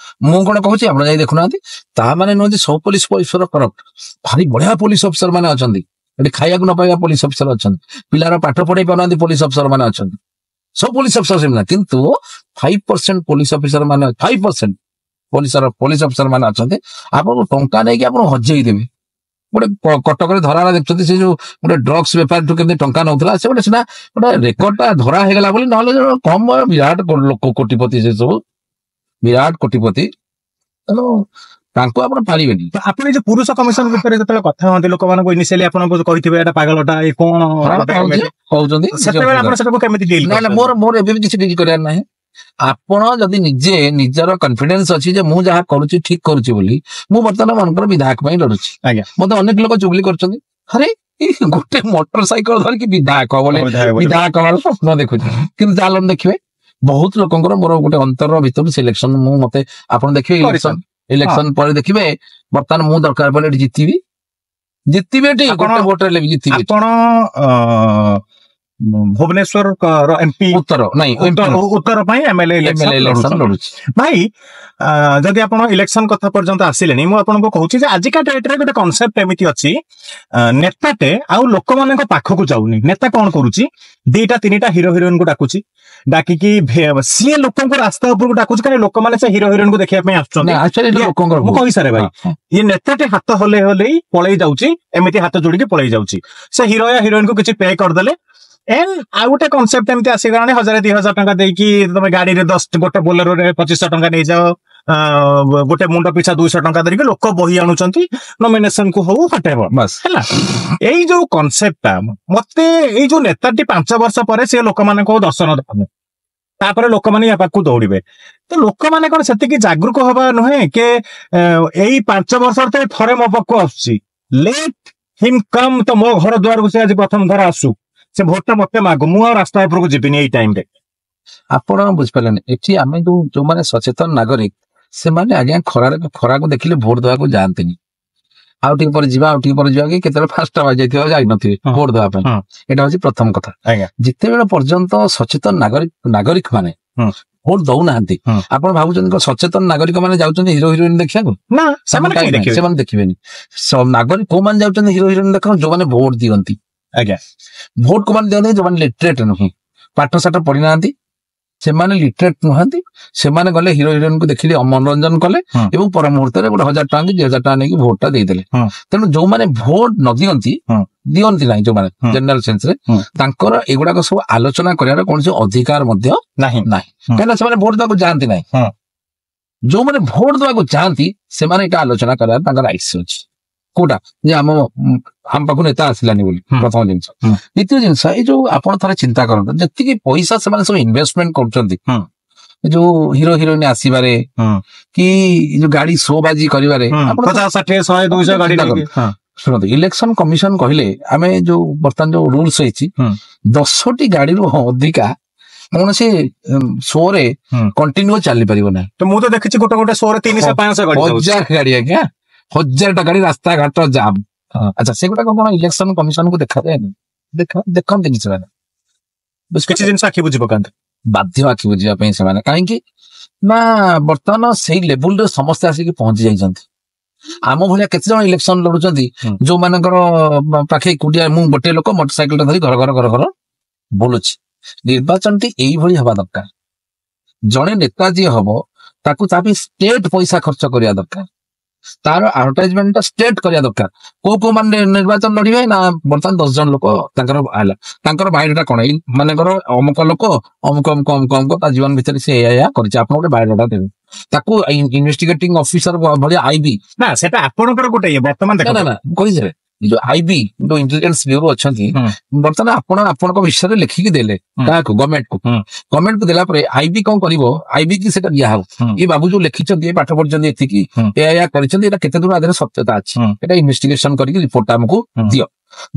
ମୁଁ କଣ କହୁଛି, ଆପଣ ଯାଇ ଦେଖୁନାହାନ୍ତି। ତା ମାନେ ନୁହଁ ଯେ ସବୁ ପୋଲିସ ଅଫିସର କରପ୍ଟ। ଭାରି ବଢିଆ ପୋଲିସ ଅଫିସର ମାନେ ଅଛନ୍ତି। ଏଠି ଖାଇବାକୁ ନ ପାଇବା ପୋଲିସ ଅଫିସର ଅଛନ୍ତି, ପିଲାର ପାଠ ପଢେଇ ପାରୁନାହାନ୍ତି ପୋଲିସ ଅଫିସର ମାନେ ଅଛନ୍ତି। ସବୁ ପୋଲିସ ଅଫିସର ସେମିତି ନା, କିନ୍ତୁ 5% ପୋଲିସ ଅଫିସର ମାନେ, 5% ପୋଲିସ ଅଫିସର ମାନେ ଅଛନ୍ତି, ଆପଣଙ୍କୁ ଟଙ୍କା ନେଇକି ଆପଣ ହଜେଇ ଦେବେ। ଗୋଟେ କଟକରେ ଧରା ହେଲା, ଦେଖୁଛନ୍ତି, ସେ ଯୋଉ ଗୋଟେ ଡ୍ରଗ୍ସ ବେପାରୀଠୁ କେମିତି ଟଙ୍କା ନଉଥିଲା। ସେ ଗୋଟେ ସିନା ଗୋଟେ ରେକର୍ଡ ଟା ଧରା ହେଇଗଲା ବୋଲି, ନହେଲେ କମ ବିରାଟ ଲୋକ, କୋଟିପତି, ସେ ସବୁ ବିରାଟ କୋଟିପତି। ତେଣୁ ତାଙ୍କୁ ଆପଣ ପାରିବେନି। ତ ଆପଣ ଏଇ ଯୋଉ ପୁରୁଷ କମିଶନ ବିଷୟରେ ଯେତେବେଳେ କଥା ହୁଅନ୍ତି, ଲୋକମାନଙ୍କୁ ଇନିସିଆଲି ଆପଣଙ୍କୁ କହିଥିବେ ଏଇଟା ପାଗଳଟା, ଏ କଣ କହୁଛନ୍ତି। ସେତେବେଳେ ଆପଣ ସେଟାକୁ କେମିତି ଡିଲ୍? ନା ନା, ମୋର ମୋର ଏବେ ବି କିଛି ଡିଲ୍ କରିବାର ନାହିଁ। ଆପଣ ଯଦି ନିଜେ ନିଜର କନଫିଡେନ୍ସ ଅଛି ଯେ ମୁଁ ଯାହା କରୁଛି ଠିକ କରୁଛି ବୋଲି, ମୁଁ ବର୍ତ୍ତମାନ ମନେକର ବିଧାୟକ ପାଇଁ ଲଢୁଛି। ମତେ ଅନେକ ଲୋକ ଚୁଗଲି କରୁଛନ୍ତି, ଆରେ ଏଇ ଗୋଟେ ମୋଟର ସାଇକେଲ ଧରିକି ବିଧାୟକ ବୋଲି, ବିଧାୟକ ହବାର ସ୍ୱପ୍ନ ଦେଖୁଛି। କିନ୍ତୁ ଚାଲନ୍ତୁ ଦେଖିବେ, ବହୁତ ଲୋକଙ୍କର ମୋର ଗୋଟେ ଅନ୍ତର ଭିତରୁ ସିଲେକ୍ସନ, ମୁଁ ମତେ ଆପଣ ଦେଖିବେ ଇଲେକ୍ସନ ଇଲେକ୍ସନ ପରେ ଦେଖିବେ ବର୍ତ୍ତମାନ ମୁଁ ଦରକାର ପଡ଼ିଲେ ଏଠି ଜିତିବି, ଜିତିବି ଏଠି ଗୋଟେ ଭୋଟ ହେଲେ ବି ଜିତିବି। ଆପଣ ଭୁବନେଶ୍ୱର ଏମପି ଉତ୍ତର ନାଇଁ ଉତ୍ତର ପାଇଁ ଏମଏଲଏ ଇଲେକ୍ସନ ଲଢୁଛି। ଭାଇ, ଯଦି ଆପଣ ଇଲେକ୍ସନ କଥା ପର୍ଯ୍ୟନ୍ତ ଆସିଲେଣି, ମୁଁ ଆପଣଙ୍କୁ କହୁଛି ଯେ ଆଜିକା ଡେଟ୍ରେ ଗୋଟେ କନସେପ୍ଟ ଏମିତି ଅଛି, ନେତାଟେ ଆଉ ଲୋକମାନଙ୍କ ପାଖକୁ ଯାଉନି। ନେତା କଣ କରୁଛି, 2ଟା 3ଟା ହିରୋ ହିରୋଇନକୁ ଡାକୁଛି, ଡାକିକି ସିଏ ଲୋକଙ୍କୁ ରାସ୍ତା ଉପରକୁ ଡାକୁଛି, କାରଣ ଲୋକମାନେ ସେ ହିରୋ ହିରୋଇନକୁ ଦେଖିବା ପାଇଁ ଆସୁଛନ୍ତି। ମୁଁ କହିସାରେ ଭାଇ, ଇଏ ନେତାଟେ ହାତ ହଲେଇ ହଲେଇ ପଳେଇ ଯାଉଛି, ଏମିତି ହାତ ଯୋଡିକି ପଳେଇ ଯାଉଛି, ସେ ହିରୋ ୟା ହିରୋଇନକୁ କିଛି ପେ କରିଦେଲେ। ଏଣ୍ଡ ଆଉ ଗୋଟେ କନସେପ୍ଟ ଏମିତି ଆସିଗଲାଣି, 1000 2000 ଟଙ୍କା ଦେଇକି ତମେ ଗାଡିରେ 10 ଗୋଟେ ବୋଲେରୋରେ 2500 ଟଙ୍କା ନେଇଯାଅ, ଗୋଟେ ମୁଣ୍ଡ ପିଛା 200 ଟଙ୍କା ଧରିକି ଲୋକ ବହି ଆଣୁଛନ୍ତି ନମିନେସନ କୁ ହଉ ହଟେଇବ ହେଲା। ଏଇ ଯୋଉ କନସେପ୍ଟଟା ମତେ, ଏଇ ଯୋଉ ନେତାଟି 5 ବର୍ଷ ପରେ ସେ ଲୋକମାନଙ୍କୁ ଦର୍ଶନ ଦବ, ତାପରେ ଲୋକମାନେ ୟା ପାଖକୁ ଦୌଡ଼ିବେ, ତ ଲୋକମାନେ କଣ ସେତିକି ଜାଗୃକ ହବା ନୁହେଁ କି ଏଇ 5 ବର୍ଷ ଥରେ ମୋ ପାଖକୁ ଆସୁଛି, ଲେଟ୍ ହିମ୍ କମ୍, ତ ମୋ ଘର ଦୁଆରକୁ ସେ ଆଜି ପ୍ରଥମ ଥର ଆସୁ, ସେ ଭୋଟଟା ମତେ ମାଗୁ, ମୁଁ ଆଉ ରାସ୍ତା ଉପରକୁ ଯିବିନି ଏଇ ଟାଇମରେ। ଆପଣ ବୁଝିପାରିଲେନି, ଏଠି ଆମେ ଯୋଉମାନେ ସଚେତନ ନାଗରିକ ସେମାନେ ଆଜ୍ଞା ଖରାକୁ ଦେଖିଲେ ଭୋଟ ଦେବାକୁ ଯାଆନ୍ତିନି। ଆଉ ଟିକେ ପରେ ଯିବା, ଆଉ ଟିକେ ପରେ ଯିବା କି କେତେବେଳେ ଫାଷ୍ଟ ଯାଇଥିବ ଯାଇନଥିବେ ଭୋଟ ଦେବା ପାଇଁ। ଏଇଟା ହଉଛି ପ୍ରଥମ କଥା। ଯେତେବେଳେ ପର୍ଯ୍ୟନ୍ତ ସଚେତନ ନାଗରିକ ମାନେ ଭୋଟ ଦଉନାହାନ୍ତି, ଆପଣ ଭାବୁଛନ୍ତି ସଚେତନ ନାଗରିକ ମାନେ ଯାଉଛନ୍ତି ହିରୋ ହିରୋଇନ ଦେଖିବାକୁ? ନା, ସେମାନେ ଦେଖିବେନି। ନାଗରିକ କୋଉମାନେ ଯାଉଛନ୍ତି ହିରୋ ହିରୋଇନ ଦେଖିବାକୁ? ଯୋଉମାନେ ଭୋଟ ଦିଅନ୍ତି। ଆଜ୍ଞା, ଭୋଟ କୋଉମାନେ ଦିଅନ୍ତି? ଯୋଉମାନେ ଲିଟରେଟ ନୁହେଁ, ପାଠ ସାଠ ପଢିନାହାନ୍ତି, ସେମାନେ ଲିଟରେଟ ନୁହନ୍ତି, ସେମାନେ ଗଲେ ହିରୋ ହିରୋଇନକୁ ଦେଖିଲେ ମନୋରଞ୍ଜନ କଲେ ଏବଂ ପର ମୁହୂର୍ତ୍ତରେ ଗୋଟେ 1000 ଟଙ୍କା କି 2000 ଟଙ୍କା ନେଇକି ଭୋଟଟା ଦେଇଦେଲେ। ତେଣୁ ଯୋଉମାନେ ଭୋଟ ନ ଦିଅନ୍ତି, ଦିଅନ୍ତି ନାହିଁ ଯୋଉମାନେ ଜେନେରାଲ ସେନ୍ସରେ, ତାଙ୍କର ଏଗୁଡାକ ସବୁ ଆଲୋଚନା କରିବାର କୌଣସି ଅଧିକାର ମଧ୍ୟ ନାହିଁ, କାହିଁକିନା ସେମାନେ ଭୋଟ ଦେବାକୁ ଯାଆନ୍ତି ନାହିଁ। ଯୋଉମାନେ ଭୋଟ ଦେବାକୁ ଯାଆନ୍ତି ସେମାନେ ଏଇଟା ଆଲୋଚନା କରିବାର ତାଙ୍କର ରାଇଟ୍ସ ଅଛି। କୋଉଟା ଯେ ଆମ ପାଖକୁ ନେତା ଆସିଲାନି ବୋଲି, ପ୍ରଥମ ଜିନିଷ। ଦ୍ୱିତୀୟ ଜିନିଷ, ଏଇ ଯୋଉ ଆପଣ ଥରେ ଚିନ୍ତା କରନ୍ତୁ, ଯେତିକି ପଇସା ସେମାନେ ସବୁ ଇନଭେଷ୍ଟମେଣ୍ଟ କରୁଛନ୍ତି ଯୋଉ ହିରୋ ହିରୋଇନ ଆସିବାରେ କି ଯୋଉ ଗାଡି ଶୋ ବାଜି କରିବାରେ, 50 60 100 200 ଗାଡି। ଶୁଣନ୍ତୁ, ଇଲେକ୍ସନ କମିଶନ କହିଲେ ଆମେ ଯୋଉ ବର୍ତ୍ତମାନ ଯୋଉ ରୁଲସ ହେଇଛି, 10ଟି ଗାଡିରୁ ଅଧିକା କୌଣସି ଶୋରେ କଣ୍ଟିନ୍ୟୁ ଚାଲିପାରିବ ନାହିଁ। ତ ମୁଁ ତ ଦେଖିଛି ଗୋଟେ ଗୋଟେ ଶୋରେ 300 500 ଗାଡି, 1000 ଗାଡି ଆଜ୍ଞା, 1000ଟା ଗାଡି, ରାସ୍ତାଘାଟ ଜାମ୍। ଆଚ୍ଛା, ସେଗୁଡାକ କଣ ଇଲେକ୍ସନ କମିଶନକୁ ଦେଖାଯାଏନି? ଦେଖନ୍ତିନି ସେମାନେ, କିଛି ଜିନିଷ ଆଖି ବୁଝି ପକାନ୍ତି, ବାଧ୍ୟ ଆଖି ବୁଝିବା ପାଇଁ ସେମାନେ। କାହିଁକି ନା ବର୍ତ୍ତମାନ ସେଇ ଲେବୁଲରେ ସମସ୍ତେ ଆସିକି ପହଞ୍ଚି ଯାଇଛନ୍ତି। ଆମ ଭଳିଆ କେତେ ଜଣ ଇଲେକ୍ସନ ଲଢୁଛନ୍ତି ଯୋଉମାନଙ୍କର ପାଖେ କୁଟିଆ, ମୁଁ ଗୋଟେ ଲୋକ ମୋଟର ସାଇକେଲଟା ଧରି ଘର ଘର ଘର ଘର ବୁଲୁଛି। ନିର୍ବାଚନଟି ଏଇଭଳି ହବା ଦରକାର। ଜଣେ ନେତା ଯିଏ ହବ ତାକୁ ତା ପାଇଁ ଷ୍ଟେଟ ପଇସା ଖର୍ଚ୍ଚ କରିବା ଦରକାର, ତାର ଆଡଭର୍ଟାଇଜମେଣ୍ଟ ଟା ଷ୍ଟେଟ କରିବା ଦରକାର। କୋଉ କୋଉ ମାନେ ନିର୍ବାଚନ ଲଢିବେ ନା ବର୍ତ୍ତମାନ 10 ଜଣ ଲୋକ ତାଙ୍କର ହେଲା, ତାଙ୍କର ବାୟୋଡାଟା କଣ, ଏଇ ମାନଙ୍କର ଅମୁକ ଲୋକ ଅମୁକ ଅମୁକ ଅମୁକ ଅମୁକ ତା ଜୀବନ ଭିତରେ ସେ ଏଇଆ ଏଇଆ କରିଛି, ଆପଣ ଗୋଟେ ବାୟୋଡାଟା ଦେବେ ତାକୁ ଇନଭେଷ୍ଟିଗେଟିଂ ଅଫିସର ଭଳିଆ ଆଇବି ନା, ସେଟା ଆପଣଙ୍କର ଗୋଟେ ଇଏ ବର୍ତ୍ତମାନ ନା ନା କହିଦେବେ ଯୋଉ ଆଇବି ଯୋଉ ଇଣ୍ଟେଲିଜେନ୍ସ ବ୍ୟୁରୋ ଅଛନ୍ତି, ବର୍ତ୍ତମାନ ଆପଣ ଆପଣଙ୍କ ବିଷୟରେ ଲେଖିକି ଦେଲେ କାହାକୁ, ଗଭର୍ଣ୍ଣମେଣ୍ଟକୁ। ଗଭର୍ଣ୍ଣମେଣ୍ଟକୁ ଦେଲା ପରେ ଆଇବି କଣ କରିବ, ଆଇବି କି ସେଟା ଦିଆହବ, ଏ ବାବୁ ଯୋଉ ଲେଖିଛନ୍ତି, ଏ ପାଠ ପଢିଛନ୍ତି ଏତିକି, ଏଇଆ ଏଇଆ କରିଛନ୍ତି, ଏଇଟା କେତେ ଦୂର ଆଦେହରେ ସତ୍ୟତା ଅଛି, ଏଇଟା ଇନଭେଷ୍ଟିଗେସନ କରିକି ରିପୋର୍ଟଟା ଆମକୁ ଦିଅ।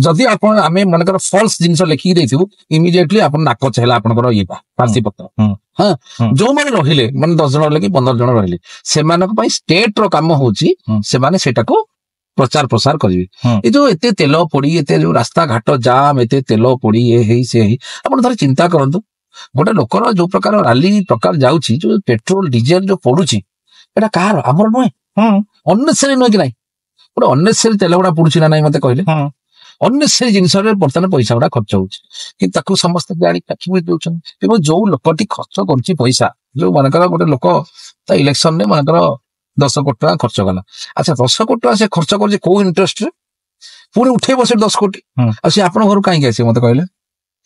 ଯଦି ଆପଣ ଆମେ ମନେକର ଫଲ୍ସ ଜିନିଷ ଲେଖିକି ଦେଇଥିବୁ, ଇମିଡିଏଟଲି ଆପଣ ନାକଚ ହେଲା ଆପଣଙ୍କର ଇଏ ପ୍ରାର୍ଥୀପତ୍ର। ହଁ, ଯୋଉମାନେ ରହିଲେ ମାନେ 10 ଜଣ ରହିଲେ କି 15 ଜଣ ରହିଲେ, ସେମାନଙ୍କ ପାଇଁ ଷ୍ଟେଟ ର କାମ ହଉଛି ସେମାନେ ସେଇଟାକୁ ପ୍ରଚାର ପ୍ରସାର କରିବେ। ଏ ଯୋଉ ଏତେ ତେଲ ପୋଡି, ଏତେ ଯୋଉ ରାସ୍ତାଘାଟ ଜାମ୍, ଏତେ ତେଲ ପୋଡି ଏ ହେଇ ସେ ହେଇ, ଆପଣ ଥରେ ଚିନ୍ତା କରନ୍ତୁ, ଗୋଟେ ଲୋକର ଯୋଉ ପ୍ରକାର ରାଲି ପ୍ରକାର ଯାଉଛି, ଯୋଉ ପେଟ୍ରୋଲ ଡିଜେଲ ଯୋଉ ପଡୁଛି, ଏଟା କାହାର, ଆମର ନୁହେଁ, ଅନ୍ନେସେରୀ ନୁହେଁ କି ନାଇଁ? ଗୋଟେ ଅନ୍ନେସେରୀ ତେଲ ଗୁଡା ପଡୁଛି ନା ନାଇଁ ମତେ କହିଲେ? ଅନ୍ନେସେରୀ ଜିନିଷରେ ବର୍ତ୍ତମାନ ପଇସା ଗୁଡା ଖର୍ଚ୍ଚ ହଉଛି, କିନ୍ତୁ ତାକୁ ସମସ୍ତେ ଜାଣି ଆଖି ବୁଜି ଦଉଛନ୍ତି। ଏବଂ ଯୋଉ ଲୋକଟି ଖର୍ଚ୍ଚ କରୁଛି ପଇସା, ଯୋଉ ମନେକର ଗୋଟେ ଲୋକ ତା ଇଲେକ୍ସନରେ ମନେକର 10 କୋଟି ଟଙ୍କା ଖର୍ଚ୍ଚ କଲା, ଆଚ୍ଛା 10 କୋଟି ଟଙ୍କା ସେ ଖର୍ଚ୍ଚ କରୁଛି କୋଉ ଇଣ୍ଟରେଷ୍ଟରେ, ପୁଣି ଉଠେଇବ ସେ 10 କୋଟି, ଆଉ ସେ ଆପଣଙ୍କ ଘରୁ କାହିଁକି ଆସିବ ମତେ କହିଲେ?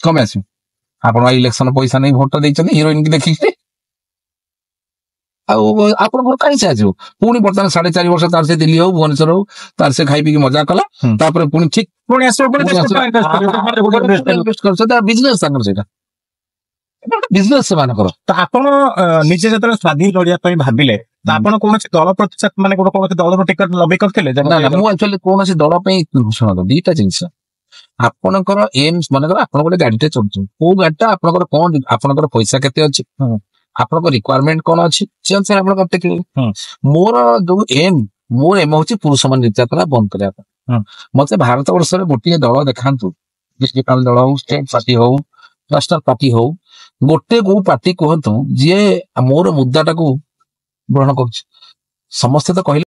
କମେ ଆସିବ? ଆପଣ ଇଲେକ୍ସନ ପଇସା ନେଇ ଭୋଟ ଦେଇଛନ୍ତି ହିରୋଇନ କି ଦେଖିକି, ଆଉ ଆପଣଙ୍କ ଘରୁ କାହିଁ ସେ ଆସିବ? ପୁଣି ବର୍ତ୍ତମାନ 4.5 ବର୍ଷ ତାର ସେ ଦିଲ୍ଲୀ ହଉ ଭୁବନେଶ୍ୱର ହଉ ତାର ସେ ଖାଇ ପିଇକି ମଜା କଲା, ତାପରେ ପୁଣି ଠିକ ପୁଣି ଆସିବ, ବିଜନେସ ତାଙ୍କର, ସେଇଟା ବିଜନେସ ସେମାନଙ୍କର। ତ ଆପଣ ନିଜେ ଯେତେବେଳେ ସ୍ୱାଧୀନ ଲଢିବା ପାଇଁ ଭାବିଲେ, ତ ଆପଣ କୌଣସି ଦଳ ପ୍ରତି ମାନେ କୌଣସି ଦଳର ଟିକଟ ଲବି କରିଥିଲେ? ମୁଁ ଆକ୍ଚୁଆଲି କୌଣସି ଦଳ ପାଇଁ, ଶୁଣନ୍ତୁ ଦିଟା ଜିନିଷ, ଆପଣଙ୍କର ଏମ୍ସ ମନେକର ଆପଣ ଗୋଟେ ଗାଡିଟେ ଚଢୁଛନ୍ତି, କୋଉ ଗାଡିଟା ଆପଣଙ୍କର କଣ, ଆପଣଙ୍କର ପଇସା କେତେ ଅଛି, ଆପଣଙ୍କ ରିକ୍ୱାରମେଣ୍ଟ କଣ ଅଛି, ସେ ଅନୁସାରେ ଆପଣ ଦେଖିବେ। ମୋର ଯୋଉ ଏମ୍, ମୋର ଏମ୍ ହଉଛି ପୁରୁଷ ମାନେ ନିର୍ଯାତନା ବନ୍ଦ କରିବା ପାଇଁ। ମତେ ଭାରତ ବର୍ଷରେ ଗୋଟିଏ ଦଳ ଦେଖାନ୍ତୁ, ଡିଷ୍ଟ୍ରିକ୍ଟାଲ ଦଳ ହଉ, ଷ୍ଟେଟ ପାର୍ଟି ହଉ, ନ୍ୟାସନାଲ ପାର୍ଟି ହଉ, ଗୋଟେ କୋଉ ପାର୍ଟି କୁହନ୍ତୁ ଯିଏ ମୋର ମୁଦ୍ଦାଟାକୁ ଗ୍ରହଣ କରୁଛି। ସମସ୍ତେ ତ କହିଲେ